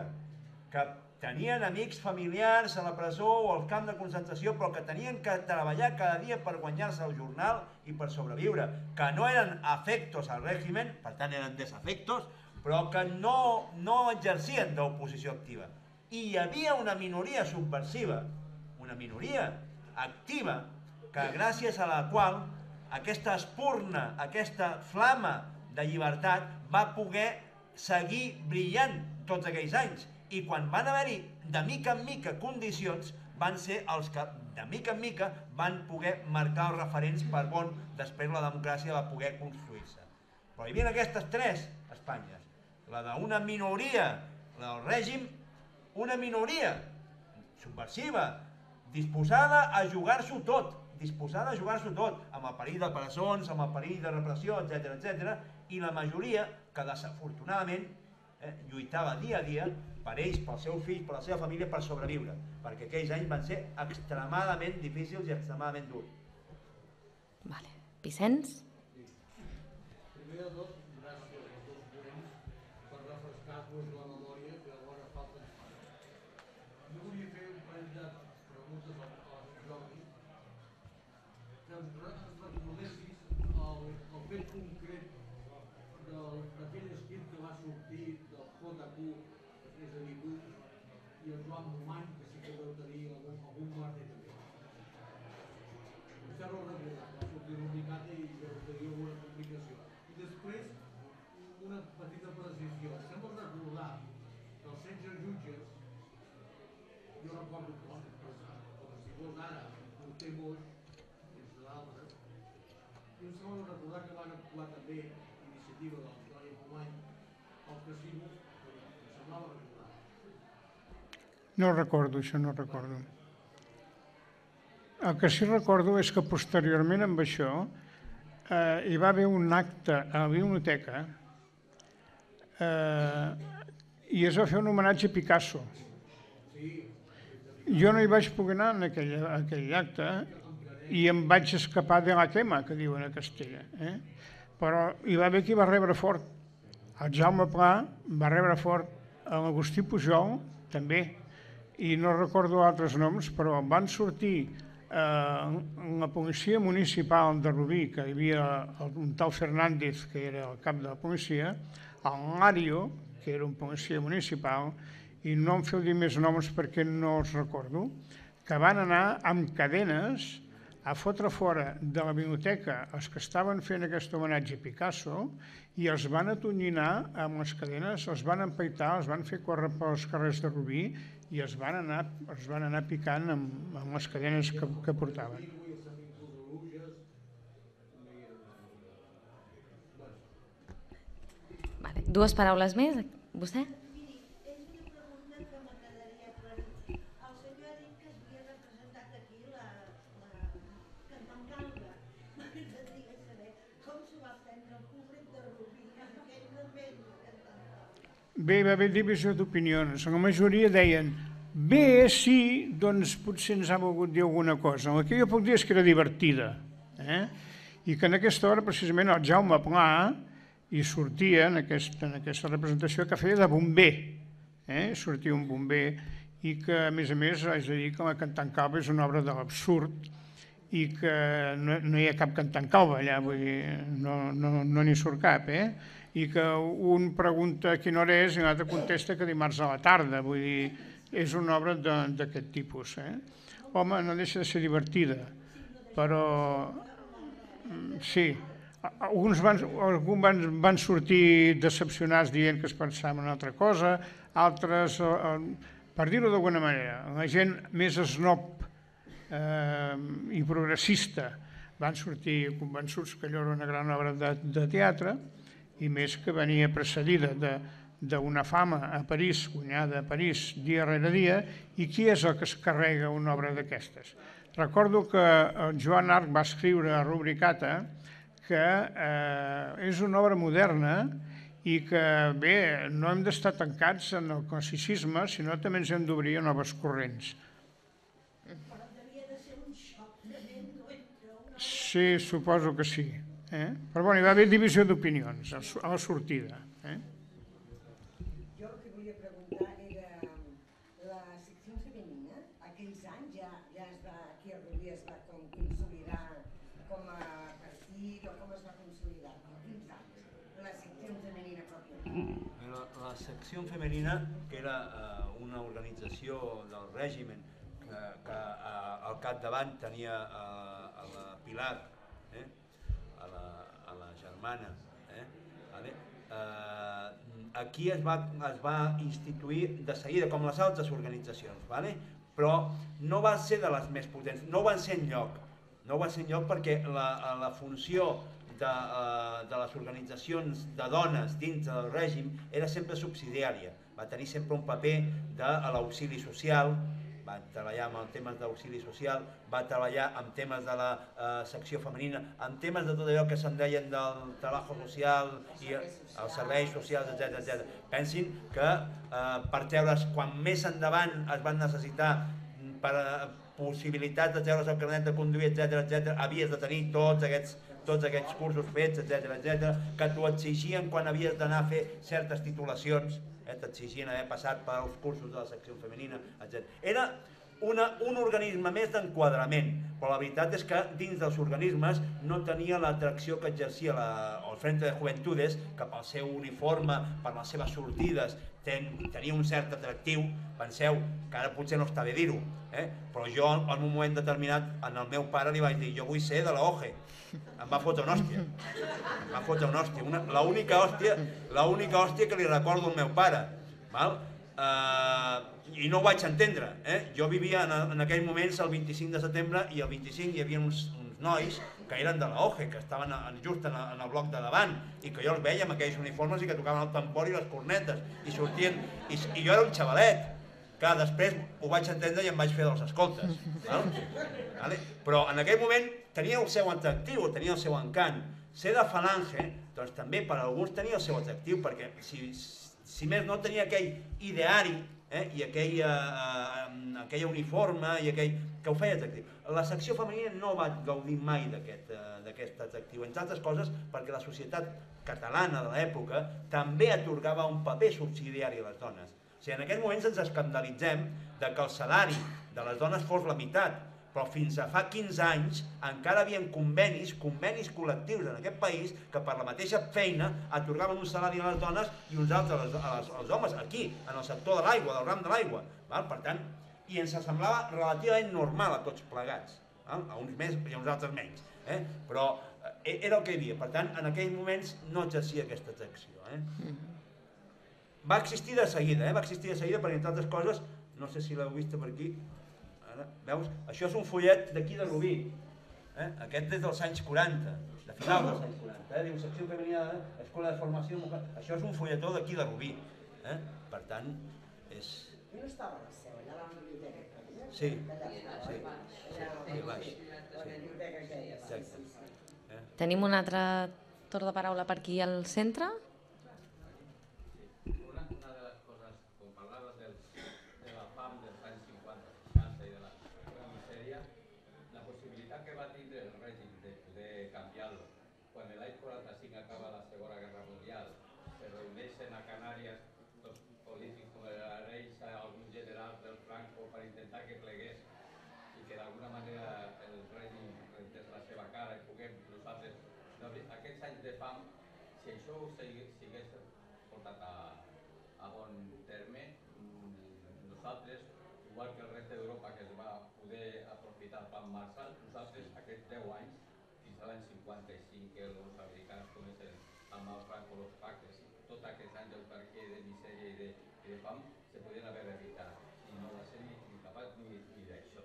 que tenien amics familiars a la presó o al camp de concentració, però que tenien que treballar cada dia per guanyar-se el jornal i per sobreviure, que no eren afectos al règim, per tant eren desafectos, però que no, no exercien d'oposició activa. I hi havia una minoria subversiva, una minoria activa, que gràcies a la qual aquesta espurna, aquesta flama de llibertat va poder seguir brillant tots aquells anys. I quan van haver-hi de mica en mica condicions, van ser els que de mica en mica van poder marcar els referents per on després la democràcia va poder construir-se. Però hi havia aquestes tres Espanyes. La d'una minoria, la del règim, una minoria subversiva, disposada a jugar-s'ho tot, disposada a jugar-s'ho tot, amb el perill de presons, amb el perill de repressió, etcètera, etcètera, i la majoria que desafortunadament eh, lluitava dia a dia per ells, pels seus fills, per la seva família, per sobreviure, perquè aquells anys van ser extremadament difícils i extremadament durs. Vale. Vicenç? Primer de tot, gràcies als dos ponents per refrescar-nos la memòria que alhora falta ens fa. Jo volia fer un parell de preguntes al, al Jordi, que ens recordessis el, el fet concret d'aquell escrit que va sortir del J Q, és a dir, tu i el Joan Romany, que sí que deu tenir algun, algun marge també. Vostè no ho recorda, va sortir l'unicat i deu tenir alguna complicació. I després, una petita precisió. Sembla recordar que els setze jutges, jo recordo com, com si fos ara, Porter Moix, entre d'altres, i em sembla recordar que van actuar també iniciativa del Joan Romany al casino, em semblava recordar. No recordo, això no recordo. El que sí recordo és que posteriorment amb això eh, hi va haver un acte a la biblioteca eh, i es va fer un homenatge a Picasso. Jo no hi vaig poder anar en aquell, aquell acte i em vaig escapar de la quema, que diuen a Castella. Eh? Però hi va haver qui va rebre fort. El Jaume Pla va rebre fort, l'Agustí Pujol també, i no recordo altres noms, però van sortir eh, la policia municipal de Rubí, que hi havia un tal Fernández, que era el cap de la policia, el Lario, que era un policia municipal, i no em feu dir més noms perquè no els recordo, que van anar amb cadenes a fotre fora de la biblioteca els que estaven fent aquest homenatge a Picasso i els van atonyinar amb les cadenes, els van empaitar, els van fer córrer pels carrers de Rubí i els van anar, els van anar picant amb, amb les cadenes que, que portaven. Vale. Dues paraules més. Vostè? Miri, és una pregunta que m'agradaria aclarir. El senyor ha dit que havia representat aquí la, la Cantant Calga. M'agradaria saber com s'ho va fer bé, va haver divisió d'opinions. La majoria deien, bé, sí, doncs potser ens ha volgut dir alguna cosa. El que jo puc dir és que era divertida. Eh? I que en aquesta hora, precisament, el Jaume Pla hi sortia en aquesta, en aquesta representació que feia de bomber. Eh? Sortia un bomber i que, a més a més, haig de dir que la Cantant Calba és una obra de l'absurd i que no, no hi ha cap cantant calba allà, vull dir, no n'hi no, no surt cap, eh? I que un pregunta a quina hora és i l'altre contesta que dimarts a la tarda, vull dir, és una obra d'aquest tipus. Eh? Home, no deixa de ser divertida, però sí, alguns van, alguns van, van sortir decepcionats dient que es pensaven en una altra cosa, altres, per dir-ho d'alguna manera, la gent més snob eh, i progressista van sortir convençuts que allò era una gran obra de, de teatre, i més que venia precedida d'una fama a París, guanyada a París dia rere dia, i qui és el que es carrega una obra d'aquestes? Recordo que el Joan Arc va escriure a Rubricata que eh, és una obra moderna i que, bé, no hem d'estar tancats en el classicisme, sinó també ens hem d'obrir a noves corrents. Però devia de ser un xoc tremendo entre una... Sí, suposo que sí. Eh? Però bueno, hi va haver divisió d'opinions a la sortida. Eh? Jo el que volia preguntar era la secció femenina, aquells anys ja, ja es va, aquí a Rubí es va com consolidar com a partit o com es va consolidar? Quins anys? La secció femenina pròpiament. La, la secció femenina, que era eh, una organització del règim que, que eh, al capdavant tenia eh, a la Pilar, eh? A la, a la germana. Eh? Vale? Eh, aquí es va, es va instituir de seguida, com les altres organitzacions, vale? Però no va ser de les més potents, no van ser enlloc, no va ser enlloc perquè la, la funció de, de les organitzacions de dones dins del règim era sempre subsidiària, va tenir sempre un paper de l'auxili social, va treballar amb temes d'auxili social, va treballar amb temes de la eh, secció femenina, amb temes de tot allò que se'n deien del treball social i els serveis socials, etcètera, etcètera. Pensin que eh, per treure's, quan més endavant es van necessitar per eh, possibilitats de treure's el carnet de conduir, etcètera, etcètera, havies de tenir tots aquests, tots aquests cursos fets, etcètera, etcètera, que t'ho exigien quan havies d'anar a fer certes titulacions, eh, t'exigien haver passat pels cursos de la secció femenina, etcètera. Era una, un organisme més d'enquadrament, però la veritat és que dins dels organismes no tenia l'atracció que exercia la, el Frente de Juventudes, que pel seu uniforme, per les seves sortides, ten, tenia un cert atractiu. Penseu que ara potser no està bé dir-ho, eh? Però jo en un moment determinat al meu pare li vaig dir, jo vull ser de la O G E. Em va fotre una hòstia, em va fotre una hòstia, una, l'única hòstia, l'única hòstia que li recordo al meu pare, val? Uh, i no ho vaig entendre, eh? Jo vivia en, en aquells moments el vint-i-cinc de setembre i el vint-i-cinc hi havia uns, uns nois que eren de la O G E, que estaven en, just en, en el bloc de davant i que jo els veia amb aquells uniformes i que tocaven el tambor i les cornetes i sortien, i, i jo era un xavalet. Clar, després ho vaig entendre i em vaig fer dels escoltes. Val? Vale? Però en aquell moment tenia el seu atractiu, tenia el seu encant. Ser de falange, doncs també per a alguns tenia el seu atractiu, perquè si, si més no tenia aquell ideari eh, i aquell, eh, aquell uniforme i aquell que ho feia atractiu. La secció femenina no va gaudir mai d'aquest eh, atractiu, entre altres coses perquè la societat catalana de l'època també atorgava un paper subsidiari a les dones. O sigui, en aquests moments ens escandalitzem de que el salari de les dones fos la meitat, però fins a fa quinze anys encara hi havia convenis, convenis col·lectius en aquest país que per la mateixa feina atorgaven un salari a les dones i uns altres als, als, als homes, aquí, en el sector de l'aigua, del ram de l'aigua. Per tant, i ens semblava relativament normal a tots plegats, val? A uns més i a uns altres menys, eh? Però eh, era el que hi havia, per tant, en aquells moments no exercia aquesta atracció. Eh? Va existir de seguida, eh? va existir de seguida perquè, entre altres coses, no sé si l'heu vist per aquí, ara, veus? Això és un follet d'aquí de Rubí, eh? Aquest és dels anys quaranta, de final dels anys quaranta, eh? Diu secció femenina, eh? Escola de formació, això és un folletó d'aquí de Rubí, eh? Per tant, és... Jo no estava a la seu, allà a la biblioteca. Sí, sí, sí, baix. Exacte. Tenim un altre torn de paraula per aquí al centre. Una, una va tindre el règim de poder canviar-lo, quan l'any quaranta-cinc acaba la Segona Guerra Mundial, se reuneixen a Canàries tots polítics com l'Areix, alguns generals del Franco per intentar que plegués i que d'alguna manera el règim rentés la seva cara i puguem nosaltres, no, aquests anys de fam, si això ho s'hagués portat a, a bon terme, nosaltres, igual que el reste d'Europa que es va poder aprofitar el plan Marshall, nosaltres aquests deu anys, fins a l'any cinquanta-cinc, que els americans comencen amb el Franco los pactes, tots aquests anys d'autarquia i de misèria i de, i de fam se podien haver evitat i no va ser ni, ni capaç ni, ni d'això.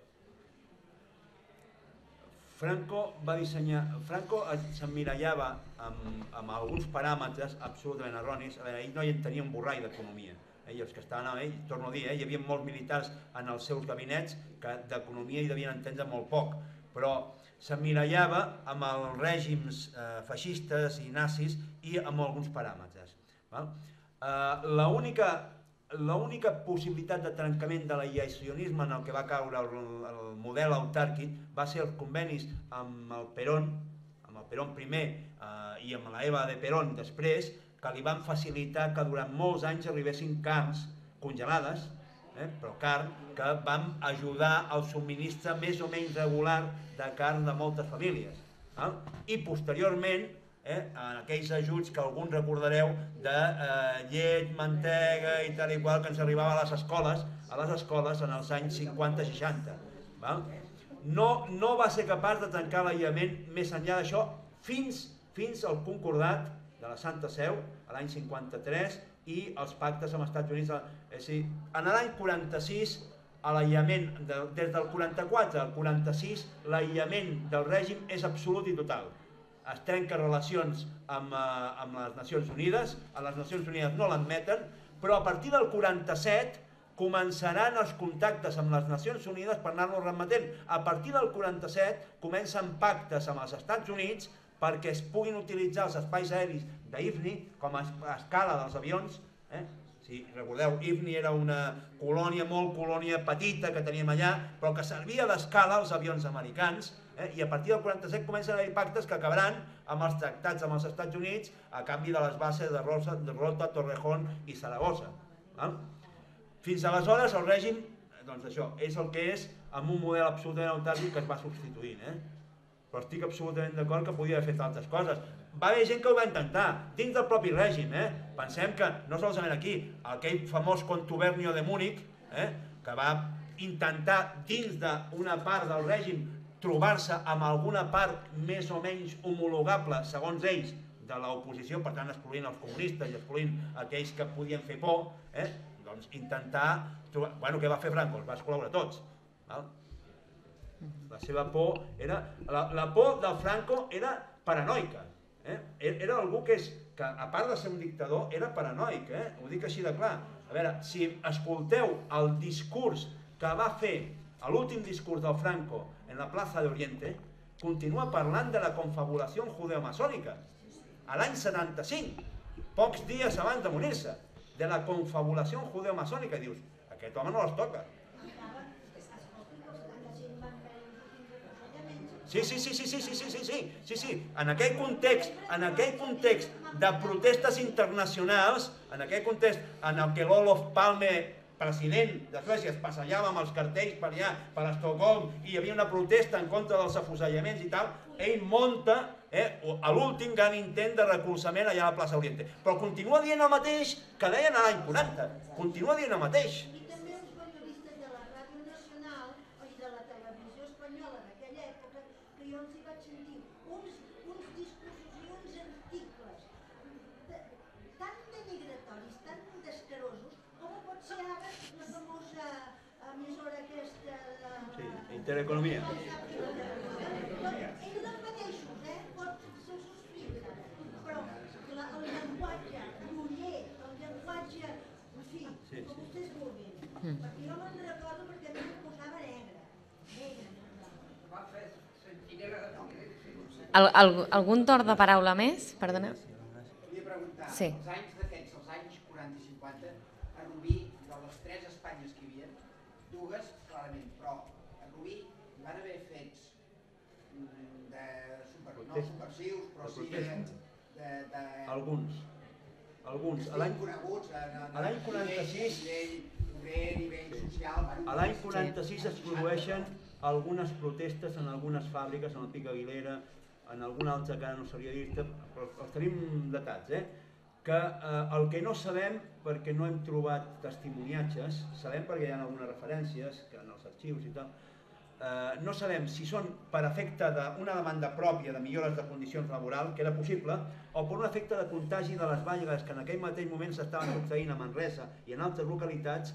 Franco va dissenyar... Franco s'emmirallava amb, amb alguns paràmetres absolutament erronis. A veure, ell no hi tenia un borrall d'economia. Eh, els que estaven amb ell, torno a dir, eh, hi havia molts militars en els seus gabinets que d'economia hi devien entendre molt poc, però s'emmirallava amb els règims eh, feixistes i nazis i amb alguns paràmetres. Val? Eh, l'única l'única possibilitat de trencament de l'aïllacionisme en el que va caure el, el model autàrquic va ser els convenis amb el Perón, amb el Perón primer eh, i amb la Eva de Perón després, que li van facilitar que durant molts anys arribessin carns congelades, eh, però carn, que van ajudar al subministre més o menys regular de carn de moltes famílies. Eh? I posteriorment, eh, en aquells ajuts que alguns recordareu de eh, llet, mantega i tal i qual que ens arribava a les escoles, a les escoles en els anys cinquanta seixanta. No, no va ser capaç de tancar l'aïllament més enllà d'això fins, fins al concordat de la Santa Seu, a l'any cinquanta-tres, i els pactes amb els Estats Units. És a dir, en l'any quaranta-sis, l'aïllament, de, des del quaranta-quatre al quaranta-sis, l'aïllament del règim és absolut i total. Es trenca relacions amb, eh, amb les Nacions Unides, a les Nacions Unides no l'admeten, però a partir del quaranta-set començaran els contactes amb les Nacions Unides per anar-nos remetent. A partir del quaranta-set comencen pactes amb els Estats Units perquè es puguin utilitzar els espais aeris d'I F N I com a escala dels avions. Eh? Si recordeu, I F N I era una colònia, molt colònia petita que teníem allà, però que servia d'escala als avions americans, eh? I a partir del quaranta-set comencen a haver pactes que acabaran amb els tractats amb els Estats Units a canvi de les bases de Rosa, de Rota, Torrejón i Saragossa. Eh? Fins aleshores el règim, doncs això, és el que és amb un model absolutament autàrquic que es va substituint. Eh? Però estic absolutament d'acord que podia haver fet altres coses. Va haver gent que ho va intentar, dins del propi règim. Eh? Pensem que, no solament aquí, aquell famós contubernio de Múnich, eh? que va intentar dins d'una part del règim trobar-se amb alguna part més o menys homologable, segons ells, de l'oposició, per tant excloent els comunistes i excloent aquells que podien fer por, eh? doncs intentar trobar... Bueno, què va fer Franco? Els va excloure tots. Val? La seva por era... La, la por del Franco era paranoica. Eh? Era algú que, és, que, a part de ser un dictador, era paranoic. Eh? Ho dic així de clar. A veure, si escolteu el discurs que va fer, l'últim discurs del Franco en la plaça d'Oriente, continua parlant de la confabulació judeomasònica. A l'any setanta-cinc, pocs dies abans de morir-se, de la confabulació judeomasònica. Dius, aquest home no les toca. Sí, sí, sí, sí, sí, sí, sí, sí, sí, sí, sí. En aquell context, en aquell context de protestes internacionals, en aquell context en el que l'Olof Palme, president de Suècia, es passejava amb els cartells per allà, per Estocolm, i hi havia una protesta en contra dels afusellaments i tal, ell munta eh, a l'últim gran intent de recolzament allà a la plaça Oriente. Però continua dient el mateix que deien a l'any quaranta. Continua dient el mateix. I també els periodistes de la Ràdio Nacional i de la televisió espanyola d'aquella època, que jo els hi vaig sentir uns, uns discursos i uns articles de, tan denigratoris, tan descarosos, com pot ser ara la famosa emissora aquesta de... Sí, Intereconomia. Ells els mateixos, eh? Pot ser subscriure, però la, el llenguatge groller, el llenguatge, en fi, sí, com sí. vostès vulguin. Mm. Perquè jo me'n recordo perquè a mi em posava negre. Negre. Va fer sentinela de Al, al, algun torn de paraula més? Perdoneu. Volia preguntar, Sí. els anys d'aquests, els anys quaranta i cinquanta, a Rubí, de les tres Espanyes que hi havia, dues, clarament, però a Rubí hi van haver fets subversius, però sí de... Alguns. Alguns. Estic coneguts a l'any quaranta-sis... A nivell social... A l'any quaranta-sis es produeixen algunes protestes en algunes fàbriques, en el Pic Aguilera, en alguna altra que ara no sabria dir-te, però els tenim datats, eh? Que el que no sabem, perquè no hem trobat testimoniatges, sabem perquè hi ha algunes referències, que en els arxius i tal, no sabem si són per efecte d'una demanda pròpia de millores de condicions laborals, que era possible, o per un efecte de contagi de les vagues que en aquell mateix moment s'estaven succeint a Manresa i en altres localitats,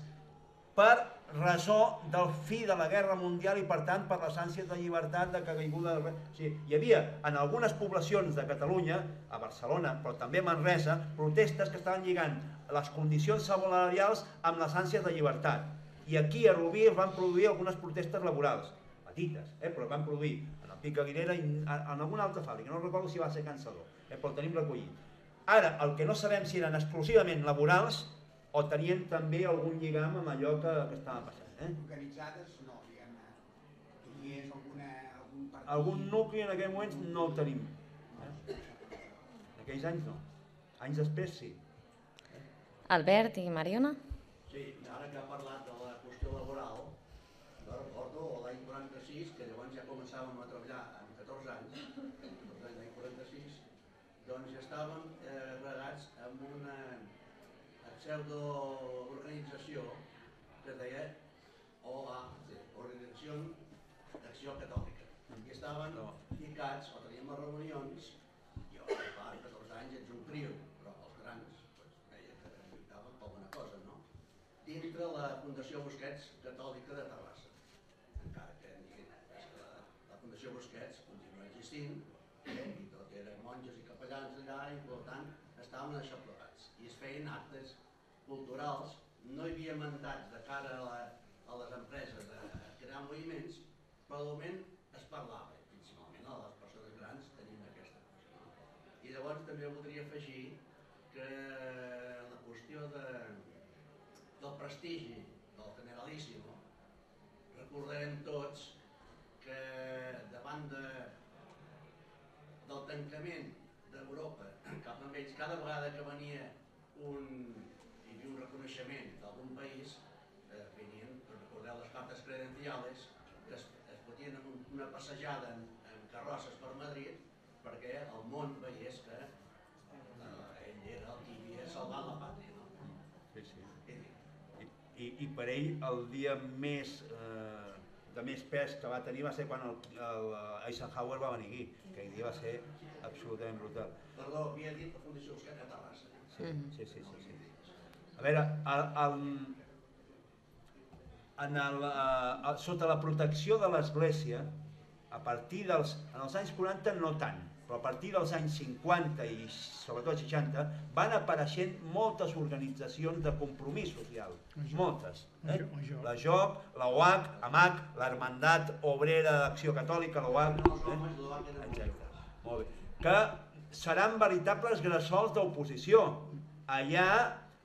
per raó del fi de la Guerra Mundial i per tant per les ànsies de llibertat, de caiguda del... O sigui, hi havia en algunes poblacions de Catalunya, a Barcelona, però també a Manresa, protestes que estaven lligant les condicions salarials amb les ànsies de llibertat. I aquí a Rubí es van produir algunes protestes laborals, petites, eh, però es van produir en el Pic Aguilera i en alguna altra fàbrica, no recordo si va ser Cansador, eh, però el tenim recollit. Ara, el que no sabem si eren exclusivament laborals o tenien també algun lligam amb allò que, que estava passant. Eh? Organitzades no, diguem-ne. Hi és alguna, algun partit... Algun nucli en aquell moment no el tenim. Eh? En aquells anys no. Anys després sí. Eh? Albert i Mariona? Sí, ara que ha parlat de la qüestió laboral, jo recordo l'any quaranta-sis, que llavors ja començàvem a treballar amb catorze anys, l'any quaranta-sis, doncs ja estàvem eh, regats amb una pseudo-organització que es deia O A C, Organització d'Acció Catòlica. I estaven ficats, o teníem les reunions, jo, clar, catorze anys ets un crio, però els grans veia que lluitaven per alguna cosa, no? Dintre la Fundació Busquets Catòlica de Terrassa. Encara que la Fundació Busquets continua existint, i tot eren monges i capellans allà, i per tant estàvem això plegats. I es feien actes culturals, no hi havia mandats de cara a, la, a les empreses de crear moviments, però de moment es parlava, principalment a les persones grans tenint aquesta cosa. No? I llavors també voldria afegir que la qüestió de, del prestigi del Generalíssimo, recordarem tots que davant de, del tancament d'Europa cap a ells, cada vegada que venia un un reconeixement d'algun país, eh, venien, recordeu les cartes credenciales, que es, es fotien en un, una passejada en, en carrosses per Madrid perquè el món veiés que eh, ell era el que havia salvat la pàtria. No? Sí, sí. I, i, I per ell el dia més, eh, de més pes que va tenir va ser quan el, el Eisenhower va venir aquí, que aquell dia va ser absolutament brutal. Perdó, havia dit la Fundació Busquets a Terrassa. Sí, sí, sí, sí, sí. A veure, el, el, en el, el, sota la protecció de l'Església, a partir dels, en els anys quaranta no tant, però a partir dels anys cinquanta i sobretot seixanta, van apareixent moltes organitzacions de compromís social, moltes. Eh? La J O C, la O H, AMAC, l'Hermandat Obrera d'Acció Catòlica, la O H, eh? etcètera. Molt bé. Que seran veritables gressols d'oposició. Allà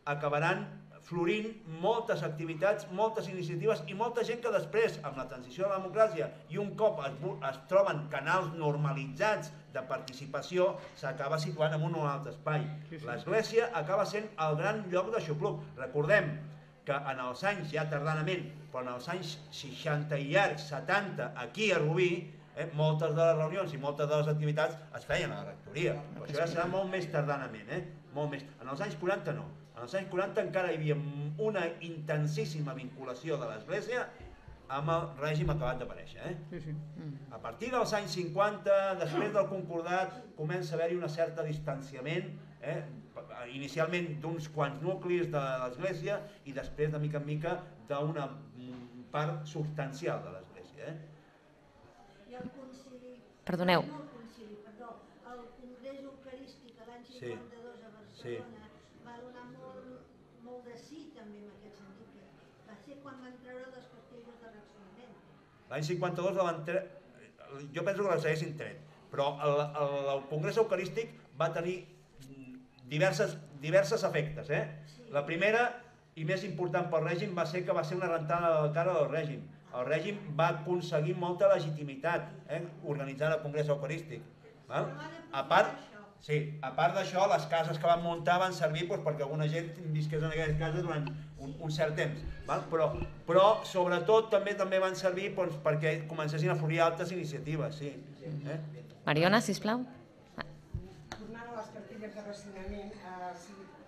acabaran florint moltes activitats, moltes iniciatives i molta gent que després, amb la transició a la democràcia i un cop es, es troben canals normalitzats de participació, s'acaba situant en un o altre espai. L'Església acaba sent el gran lloc de xupluc. Recordem que en els anys, ja tardanament, però en els anys seixanta i llargs, setanta, aquí a Rubí, eh, moltes de les reunions i moltes de les activitats es feien a la rectoria. Però això ja serà molt més tardanament, eh? Molt més. En els anys quaranta no. En els anys quaranta encara hi havia una intensíssima vinculació de l'Església amb el règim acabat d'aparèixer. Eh? Sí, sí. A partir dels anys cinquanta, després del concordat, comença a haver-hi un cert distanciament, eh? Inicialment d'uns quants nuclis de l'Església i després, de mica en mica, d'una part substancial de l'Església. Eh? I el concili... Perdoneu. No el concili, perdó. El Congrés Eucarístic l'any cinquanta-dos a Barcelona sí. va donar molt, molt de sí també en aquest sentit. Va ser quan van treure les pastilles de reaccionament. L'any cinquanta-dos la van treure... Jo penso que les haguessin tret, però el, el, el Congrés Eucarístic va tenir diverses, diverses efectes. Eh? Sí. La primera i més important pel règim va ser que va ser una rentada de la cara del règim. El règim va aconseguir molta legitimitat eh? organitzant el Congrés Eucarístic. A part, sí, a part d'això, les cases que van muntar van servir perquè alguna gent visqués en aquelles cases durant un cert temps, però sobretot també també van servir perquè comencessin a florir altres iniciatives. Mariona, sisplau. Tornant a les cartilles de racionament,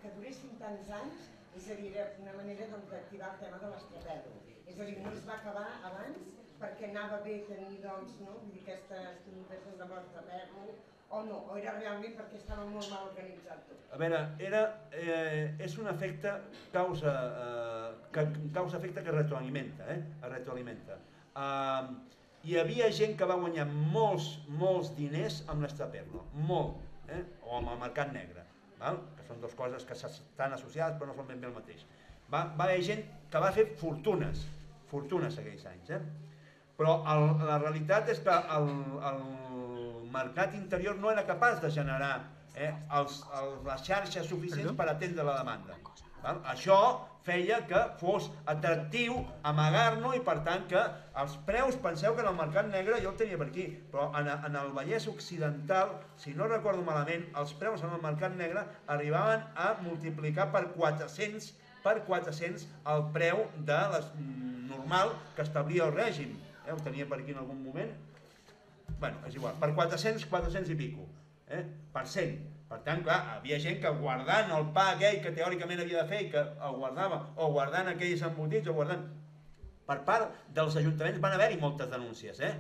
que duressin tants anys, és a dir, era una manera d'activar el tema de l'estraperlo. És a dir, no es va acabar abans perquè anava bé tenir, doncs, no, vull dir, aquestes comunicacions de l'estraperlo, o no, o era realment perquè estava molt mal organitzat tot? A veure, és un efecte causa-efecte que retroalimenta, es retroalimenta. Hi havia gent que va guanyar molts, molts diners amb l'estraperlo, molt, o amb el mercat negre, que són dues coses que estan associades però no són ben bé el mateix. Va haver gent que va fer fortunes, fortunes aquells anys, però la realitat és que el mercat interior no era capaç de generar les xarxes suficients per atendre la demanda. Això feia que fos atractiu amagar-no i per tant que els preus, penseu que en el mercat negre, jo el tenia per aquí, però en el Vallès Occidental, si no recordo malament, els preus en el mercat negre arribaven a multiplicar per quatre-cents per quatre-cents el preu normal que establia el règim. Ho tenia per aquí en algun moment. Bé, és igual, per quatre-cents, quatre-cents i pico, per cent. Per tant, clar, havia gent que guardant el pa aquell que teòricament havia de fer i que el guardava, o guardant aquells embotits, o guardant... Per part dels ajuntaments van haver-hi moltes denúncies, eh?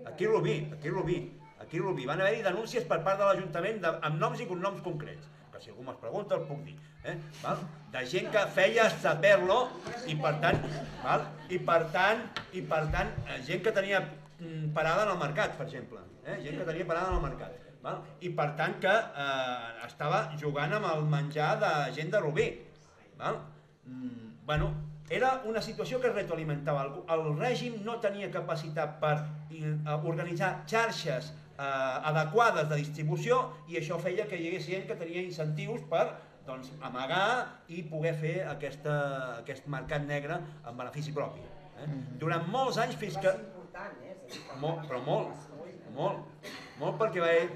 Aquí a Rubí, aquí a Rubí, aquí a Rubí. Van haver-hi denúncies per part de l'Ajuntament amb noms i cognoms concrets, que si algú me'ls pregunta el puc dir, de gent que feia estraperlo i per tant, i per tant, i per tant, gent que tenia parada en el mercat, per exemple, gent que tenia parada en el mercat. I per tant que estava jugant amb el menjar de gent de Rubí. Bueno, era una situació que es retroalimentava. El règim no tenia capacitat per organitzar xarxes adequades de distribució i això feia que hi hagués gent que tenia incentius per amagar i poder fer aquest mercat negre en benefici propi. Durant molts anys fins que... Però molt, molt. Molt perquè va haver...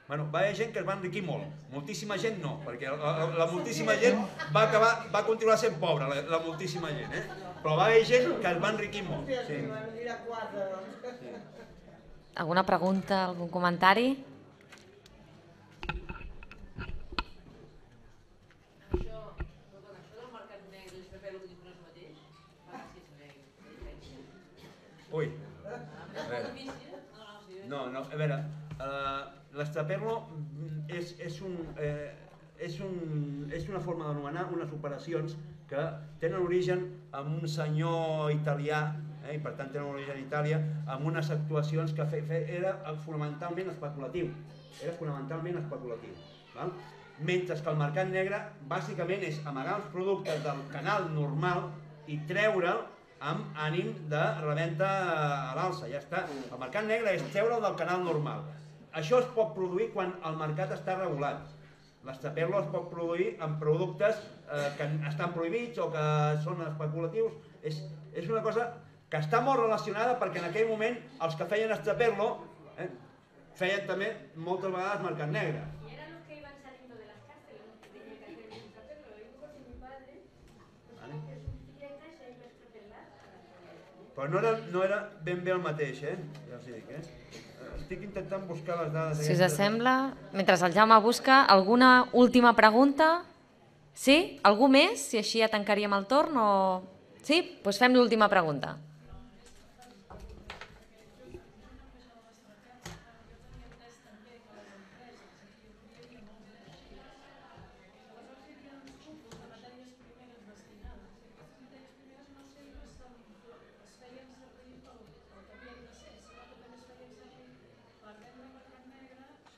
Bueno, va haver gent que es va enriquir molt. Moltíssima gent no, perquè la moltíssima gent va acabar, va continuar sent pobra, la moltíssima gent, eh? Però va haver gent que es va enriquir molt. Alguna pregunta, algun comentari? Això, això del mercat negre i l'estraperlo que dius no és el mateix? Fa que sí, és Ui. No, no, a veure, l'estraperlo és una forma d'anomenar unes operacions que tenen origen en un senyor italià, i per tant tenen origen a Itàlia, amb unes actuacions que era fonamentalment especulatiu, era fonamentalment especulatiu. Mentre que el mercat negre bàsicament és amagar els productes del canal normal i treure'l amb ànim de reventa a l'alça, ja està. El mercat negre és treure'l del canal normal. Això es pot produir quan el mercat està regulat. L'estraperlo es pot produir amb productes que estan prohibits o que són especulatius. És una cosa que està molt relacionada perquè en aquell moment els que feien estraperlo feien també moltes vegades mercat negre. Però no era ben bé el mateix, eh? Ja us dic, eh? Estic intentant buscar les dades... Si us sembla, mentre el Jaume busca, alguna última pregunta? Sí? Algú més? Si així ja tancaríem el torn o... Sí? Doncs fem l'última pregunta.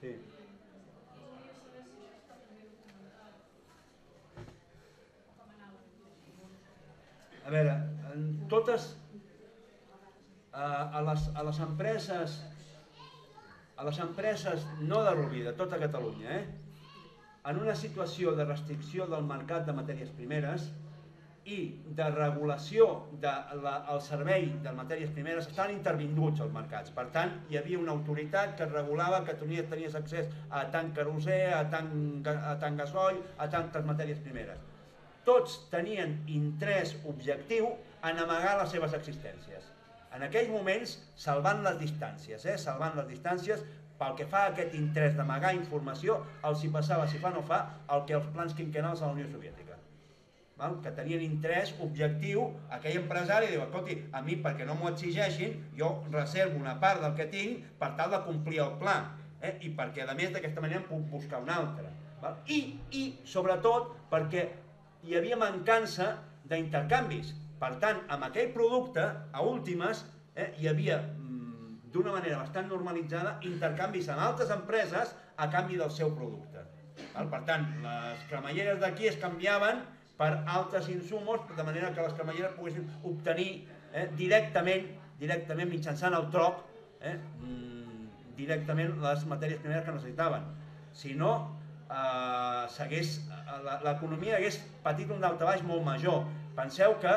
Sí. A veure, en totes, a les, a les empreses, a les empreses no de Rubí, de tota Catalunya, eh? En una situació de restricció del mercat de matèries primeres, i de regulació del servei de matèries primeres estaven intervinguts als mercats. Per tant, hi havia una autoritat que regulava que tenies accés a tant querosè, a tant gasoil, a tantes matèries primeres. Tots tenien interès objectiu en amagar les seves existències. En aquells moments, salvant les distàncies, eh? salvant les distàncies, pel que fa a aquest interès d'amagar informació, els hi passava, si fa no fa, el que els plans quinquennals a la Unió Soviètica. Val? Que tenien interès objectiu, aquell empresari diu, escolti, a mi perquè no m'ho exigeixin, jo reservo una part del que tinc per tal de complir el pla, eh? i perquè a més d'aquesta manera em puc buscar una altra. Val? I, I, sobretot, perquè hi havia mancança d'intercanvis. Per tant, amb aquell producte, a últimes, eh, hi havia, d'una manera bastant normalitzada, intercanvis amb altres empreses a canvi del seu producte. Val? Per tant, les cremalleres d'aquí es canviaven per altres insumos, de manera que les cremalleres poguessin obtenir eh, directament, directament mitjançant el troc, eh, directament les matèries primeres que necessitaven. Si no, eh, l'economia hagués patit un daltabaix molt major. Penseu que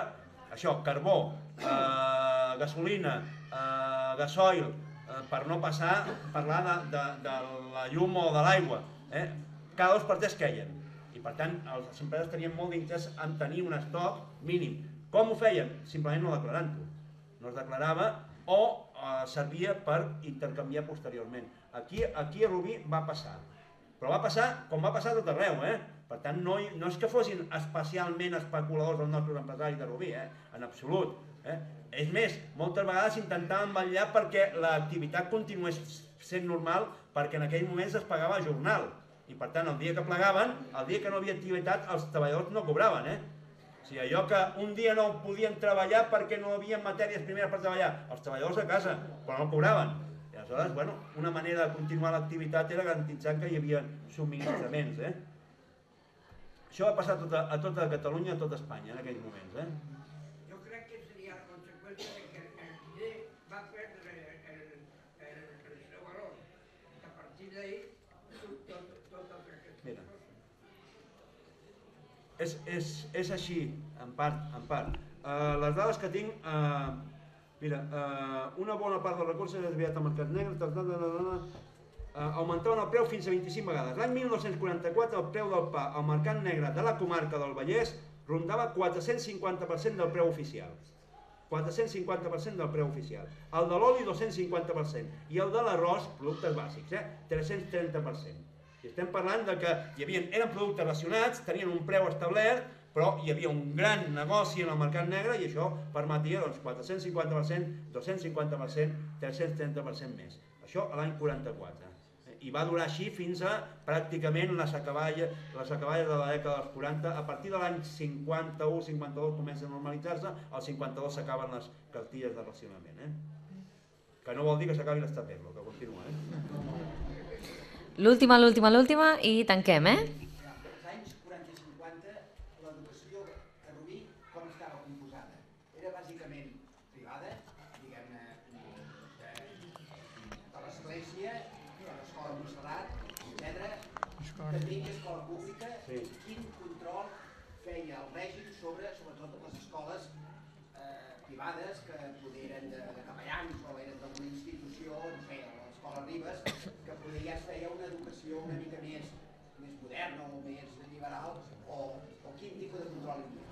això, carbó, eh, gasolina, eh, gasoil, eh, per no passar, parlar de, de, de la llum o de l'aigua, eh, cada dos per tres queien. I per tant, les empreses tenien molt d'interès en tenir un estoc mínim. Com ho feien? Simplement no declarant-ho. No es declarava o eh, servia per intercanviar posteriorment. Aquí, aquí a Rubí va passar. Però va passar com va passar a tot arreu, eh? Per tant, no, no és que fossin especialment especuladors els nostres empresaris de Rubí, eh? En absolut. Eh? És més, moltes vegades intentaven vetllar perquè l'activitat continués sent normal, perquè en aquells moments es pagava a jornal. I per tant, el dia que plegaven, el dia que no havia activitat, els treballadors no cobraven. Eh? O sigui, allò que un dia no podien treballar perquè no havia matèries primeres per treballar, els treballadors a casa, però no cobraven. I aleshores, bueno, una manera de continuar l'activitat era garantitzar que hi havia subministraments. Eh? Això va passar a tota, a tota Catalunya, a tota Espanya, en aquells moments. Eh? Jo crec que seria la conseqüència de que el diner va perdre el, el, el seu valor. A partir d'ahir, tot, tot el que... Mira. És, és, és així, en part. En part. Uh, les dades que tinc... Uh, mira, uh, una bona part dels recursos és desviat al mercat negre, tal, tal, tal, tal, Uh, augmentaven el preu fins a vint-i-cinc vegades. L'any mil nou-cents quaranta-quatre el preu del pa al mercat negre de la comarca del Vallès rondava quatre-cents cinquanta per cent del preu oficial. quatre-cents cinquanta per cent del preu oficial. El de l'oli, dos-cents cinquanta per cent. I el de l'arròs, productes bàsics, eh? tres-cents trenta per cent. I estem parlant de que hi havia, eren productes racionats, tenien un preu establert, però hi havia un gran negoci en el mercat negre i això permetia doncs, quatre-cents cinquanta per cent, dos-cents cinquanta per cent, tres-cents trenta per cent més. Això a l'any quaranta-quatre. I va durar així fins a pràcticament les acaballes, les acaballes de la dècada dels quaranta. A partir de l'any cinquanta-u cinquanta-dos comença a normalitzar-se, al cinquanta-dos s'acaben les cartilles de racionament. Eh? Que no vol dir que s'acabi l'estat d'Erlo, que continua. Eh? L'última, l'última, l'última i tanquem, eh? Als anys quaranta i cinquanta, l'educació a Rubí com estava composada? Era bàsicament privada, diguem-ne, de l'església, l'escola Montserrat, etcètera. També hi ha escola pública. Sí. Quin control feia el règim sobre, sobretot, les escoles eh, privades que poder eren de, de capellans o eren d'alguna institució, no sé, l'escola Ribes, que poder ja es feia una educació una mica més, més moderna o més liberal, o, o quin tipus de control hi havia?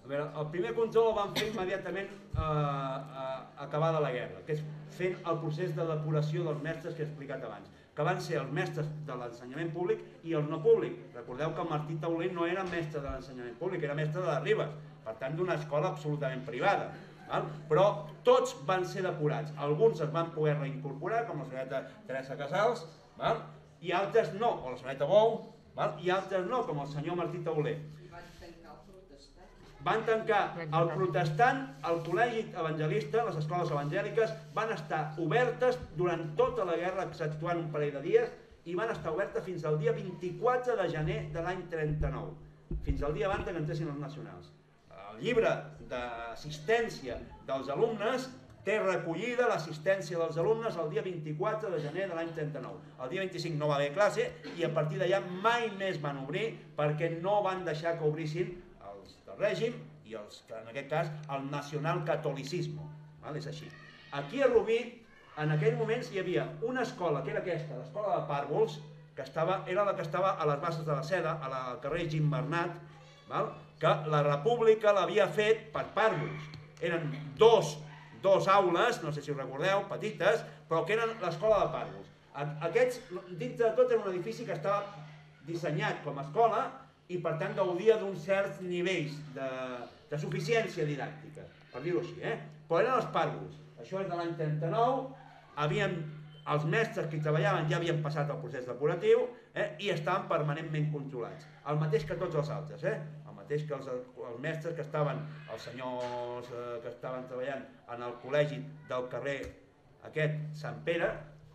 A veure, el primer control el van fer immediatament eh, eh, acabada la guerra, que és fent el procés de depuració dels mestres que he explicat abans, que van ser els mestres de l'ensenyament públic i els no públic. Recordeu que el Martí Tauler no era mestre de l'ensenyament públic, era mestre de les Ribes, per tant d'una escola absolutament privada. Val? Però tots van ser depurats. Alguns es van poder reincorporar, com la senyoreta Teresa Casals, val? I altres no, o la senyoreta Bou, val? I altres no, com el senyor Martí Tauler. Van tancar el protestant, el col·legi evangelista, les escoles evangèliques, van estar obertes durant tota la guerra, exceptuant un parell de dies, i van estar obertes fins al dia vint-i-quatre de gener de l'any trenta-nou, fins al dia abans que entressin els nacionals. El llibre d'assistència dels alumnes té recollida l'assistència dels alumnes el dia vint-i-quatre de gener de l'any trenta-nou. El dia vint-i-cinc no va haver classe i a partir d'allà mai més van obrir perquè no van deixar que obrissin del règim i i en aquest cas el nacionalcatolicisme, és així. Aquí a Rubí, en aquells moments hi havia una escola, que era aquesta, l'escola de Pàrvols, que era la que estava a les Basses de la Seda, al carrer Gimbernat, que la República l'havia fet per Pàrvols. Eren dos dos aules, no sé si ho recordeu, petites, però que eren l'escola de Pàrvols. Aquests, dins de tot, era un edifici que estava dissenyat com a escola i, per tant, gaudia d'uns certs nivells de suficiència didàctica, per dir-ho així, eh? Però eren els Pàrvols. Això és de l'any trenta-nou, els mestres que hi treballaven ja havien passat el procés depuratiu i estaven permanentment controlats. El mateix que tots els altres, eh? El mateix que els mestres que estaven, els senyors que estaven treballant en el col·legi del carrer aquest, Sant Pere,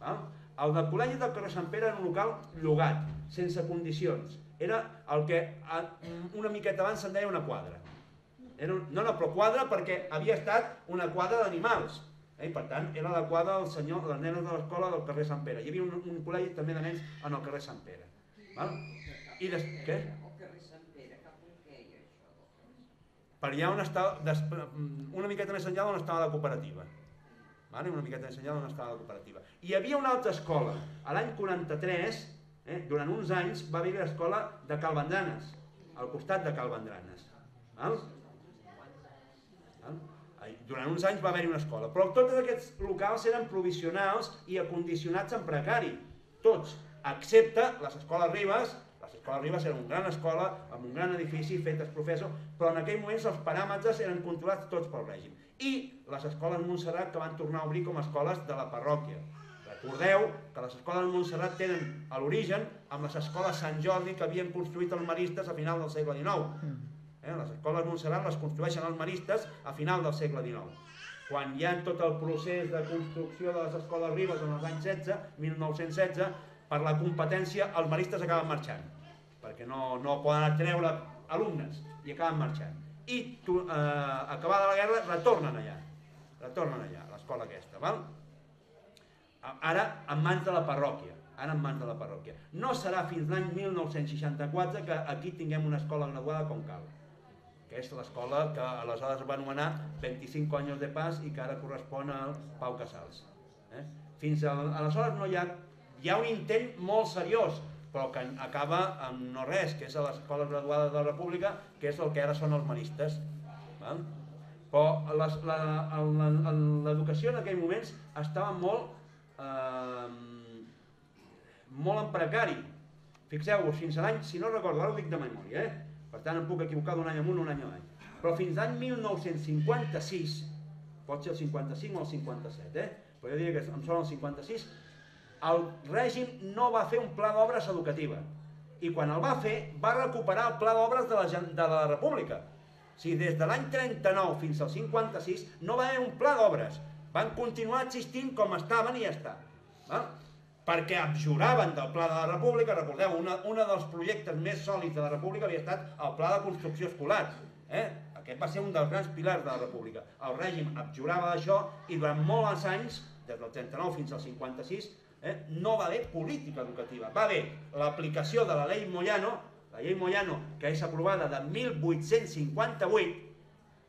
el del col·legi del carrer Sant Pere era un local llogat, sense condicions. Era el que una miqueta abans se'n deia una quadra. No, no, però quadra perquè havia estat una quadra d'animals. I per tant era la quadra dels nenes de l'escola del carrer Sant Pere. Hi havia un col·legi també de nens en el carrer Sant Pere. I què? Per allà on estava, una miqueta més enllà on estava la cooperativa. Una miqueta més enllà on estava la cooperativa. Hi havia una altra escola, a l'any quaranta-tres, durant uns anys va haver l'escola de Cal Vendranes, al costat de Cal Vendranes. Durant uns anys va haver-hi una escola, però tots aquests locals eren provisionals i acondicionats en precari, tots, excepte les escoles Ribes. L'escola Ribes era una gran escola, amb un gran edifici, fet als professors, però en aquell moment els paràmetres eren controlats tots pel règim. I les escoles Montserrat que van tornar a obrir com a escoles de la parròquia. Recordeu que les escoles de Montserrat tenen a l'origen amb les escoles Sant Jordi que havien construït els maristes a final del segle dinou. Les escoles de Montserrat les construeixen els maristes a final del segle dinou. Quan hi ha tot el procés de construcció de les escoles Ribes en els anys setze, mil nou-cents setze, per la competència els maristes acaben marxant, perquè no poden treure alumnes i acaben marxant. I acabada la guerra retornen allà, retornen allà, a l'escola aquesta. Ara en mans de la parròquia, ara en mans de la parròquia. No serà fins l'any mil nou-cents seixanta-quatre que aquí tinguem una escola graduada com cal, que és l'escola que aleshores va anomenar vint-i-cinc anys de Paz i que ara correspon al Pau Casals. Fins aleshores no hi ha... Hi ha un intent molt seriós, però que acaba amb no res, que és a l'escola graduada de la República, que és el que ara són els maristes. Però l'educació en aquells moments estava molt molt en precari. Fixeu-vos, fins a l'any, si no recordo, ara ho dic de memòria, per tant em puc equivocar d'un any amunt o un any avall, però fins l'any mil nou-cents cinquanta-sis, pot ser el cinquanta-cinc o el cinquanta-set, però jo diria que em sona el cinquanta-sis, el règim no va fer un pla d'obres educativa i quan el va fer va recuperar el pla d'obres de la República. O sigui, des de l'any trenta-nou fins al cinquanta-sis no va haver un pla d'obres, van continuar existint com estaven i ja està, perquè abjuraven del pla de la República. Recordeu, un dels projectes més sòlids de la República havia estat el pla de construcció escolar. Aquest va ser un dels grans pilars de la República. El règim abjurava d'això i durant molts anys, des del trenta-nou fins al cinquanta-sis, no va haver política educativa. Va haver l'aplicació de la llei Moyano, la llei Moyano que és aprovada de mil vuit-cents cinquanta-vuit.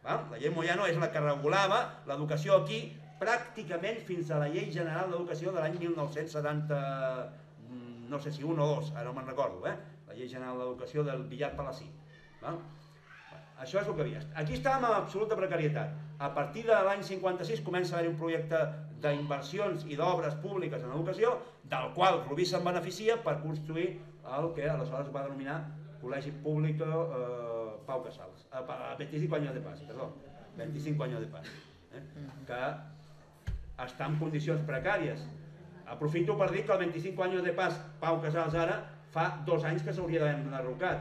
La llei Moyano és la que regulava l'educació aquí pràcticament fins a la llei general d'educació de l'any mil nou-cents setanta, no sé si un o dos, ara no me'n recordo, la llei general d'educació del Villar Palací. Això és el que havia. Aquí estàvem en absoluta precarietat. A partir de l'any cinquanta-sis comença a haver un projecte d'inversions i d'obres públiques en educació, del qual Rubí se'n beneficia per construir el que aleshores va denominar Col·legi Públic Pau Casals. vint-i-cinc anys de Paz, perdó. vint-i-cinc anys de Paz. Que està en condicions precàries. Aprofito per dir que el vint-i-cinc anys de Paz Pau Casals ara fa dos anys que s'hauria d'haver enderrocat.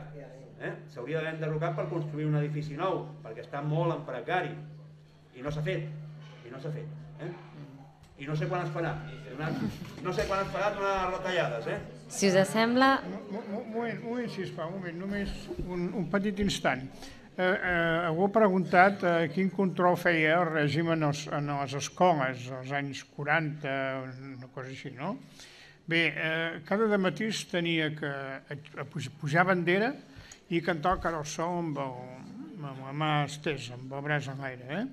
S'hauria d'haver enderrocat per construir un edifici nou, perquè està molt en precari. I no s'ha fet. I no s'ha fet. I no sé quan es farà. No sé quan es farà donar les retallades. Si us sembla... Un moment, sisplau, un moment, només un petit instant. Algú ha preguntat quin control feia el règim en les escoles als anys quaranta, una cosa així, no? Bé, cada dematí es tenia que pujar bandera i cantar el carol sol amb amb la mà estesa, amb el braç en l'aire,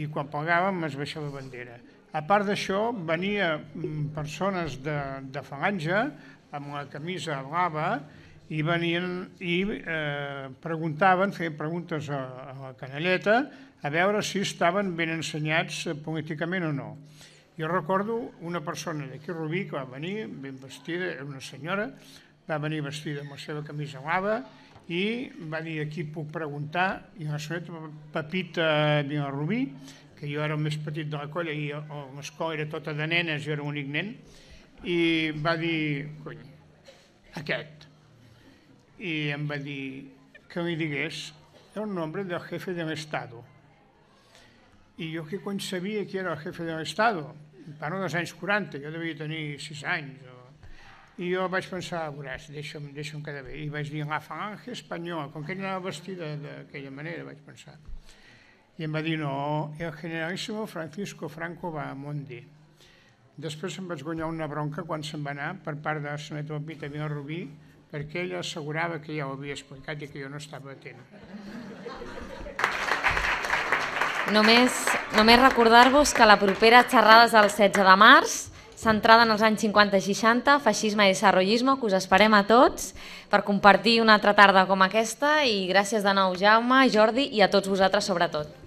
i quan plegàvem es baixava la bandera. A part d'això, venia persones de falange amb la camisa blava i venien i preguntaven, feien preguntes a la canalleta a veure si estaven ben ensenyats políticament o no. Jo recordo una persona d'aquí a Rubí que va venir ben vestida, era una senyora, va venir vestida amb la seva camisa blava i va dir aquí puc preguntar, i la senyora Pepita Vilarrubí, que jo era el més petit de la colla i l'escola era tota de nenes, jo era l'únic nen, i va dir, cony, aquest. I em va dir que li digués el nombre del jefe del Estado. I jo què cony sabia qui era el jefe del Estado? Parlo dels anys quaranta, jo devia tenir sis anys. I jo vaig pensar, veuràs, deixa'm quedar bé. I vaig dir, la falange espanyola, com que ella anava vestida d'aquella manera, vaig pensar. I em va dir, no, el generalíssimo Francisco Franco Bahamonde. Després em vaig guanyar una bronca quan se'n va anar per part de la senyora Pepita Vilarrubí perquè ella assegurava que ja ho havia explicat i que jo no estava atent. Només recordar-vos que la propera xerrada és el setze de març, centrada en els anys cinquanta i seixanta, feixisme i desarrollisme, que us esperem a tots per compartir una altra tarda com aquesta i gràcies de nou Jaume, Jordi i a tots vosaltres sobretot.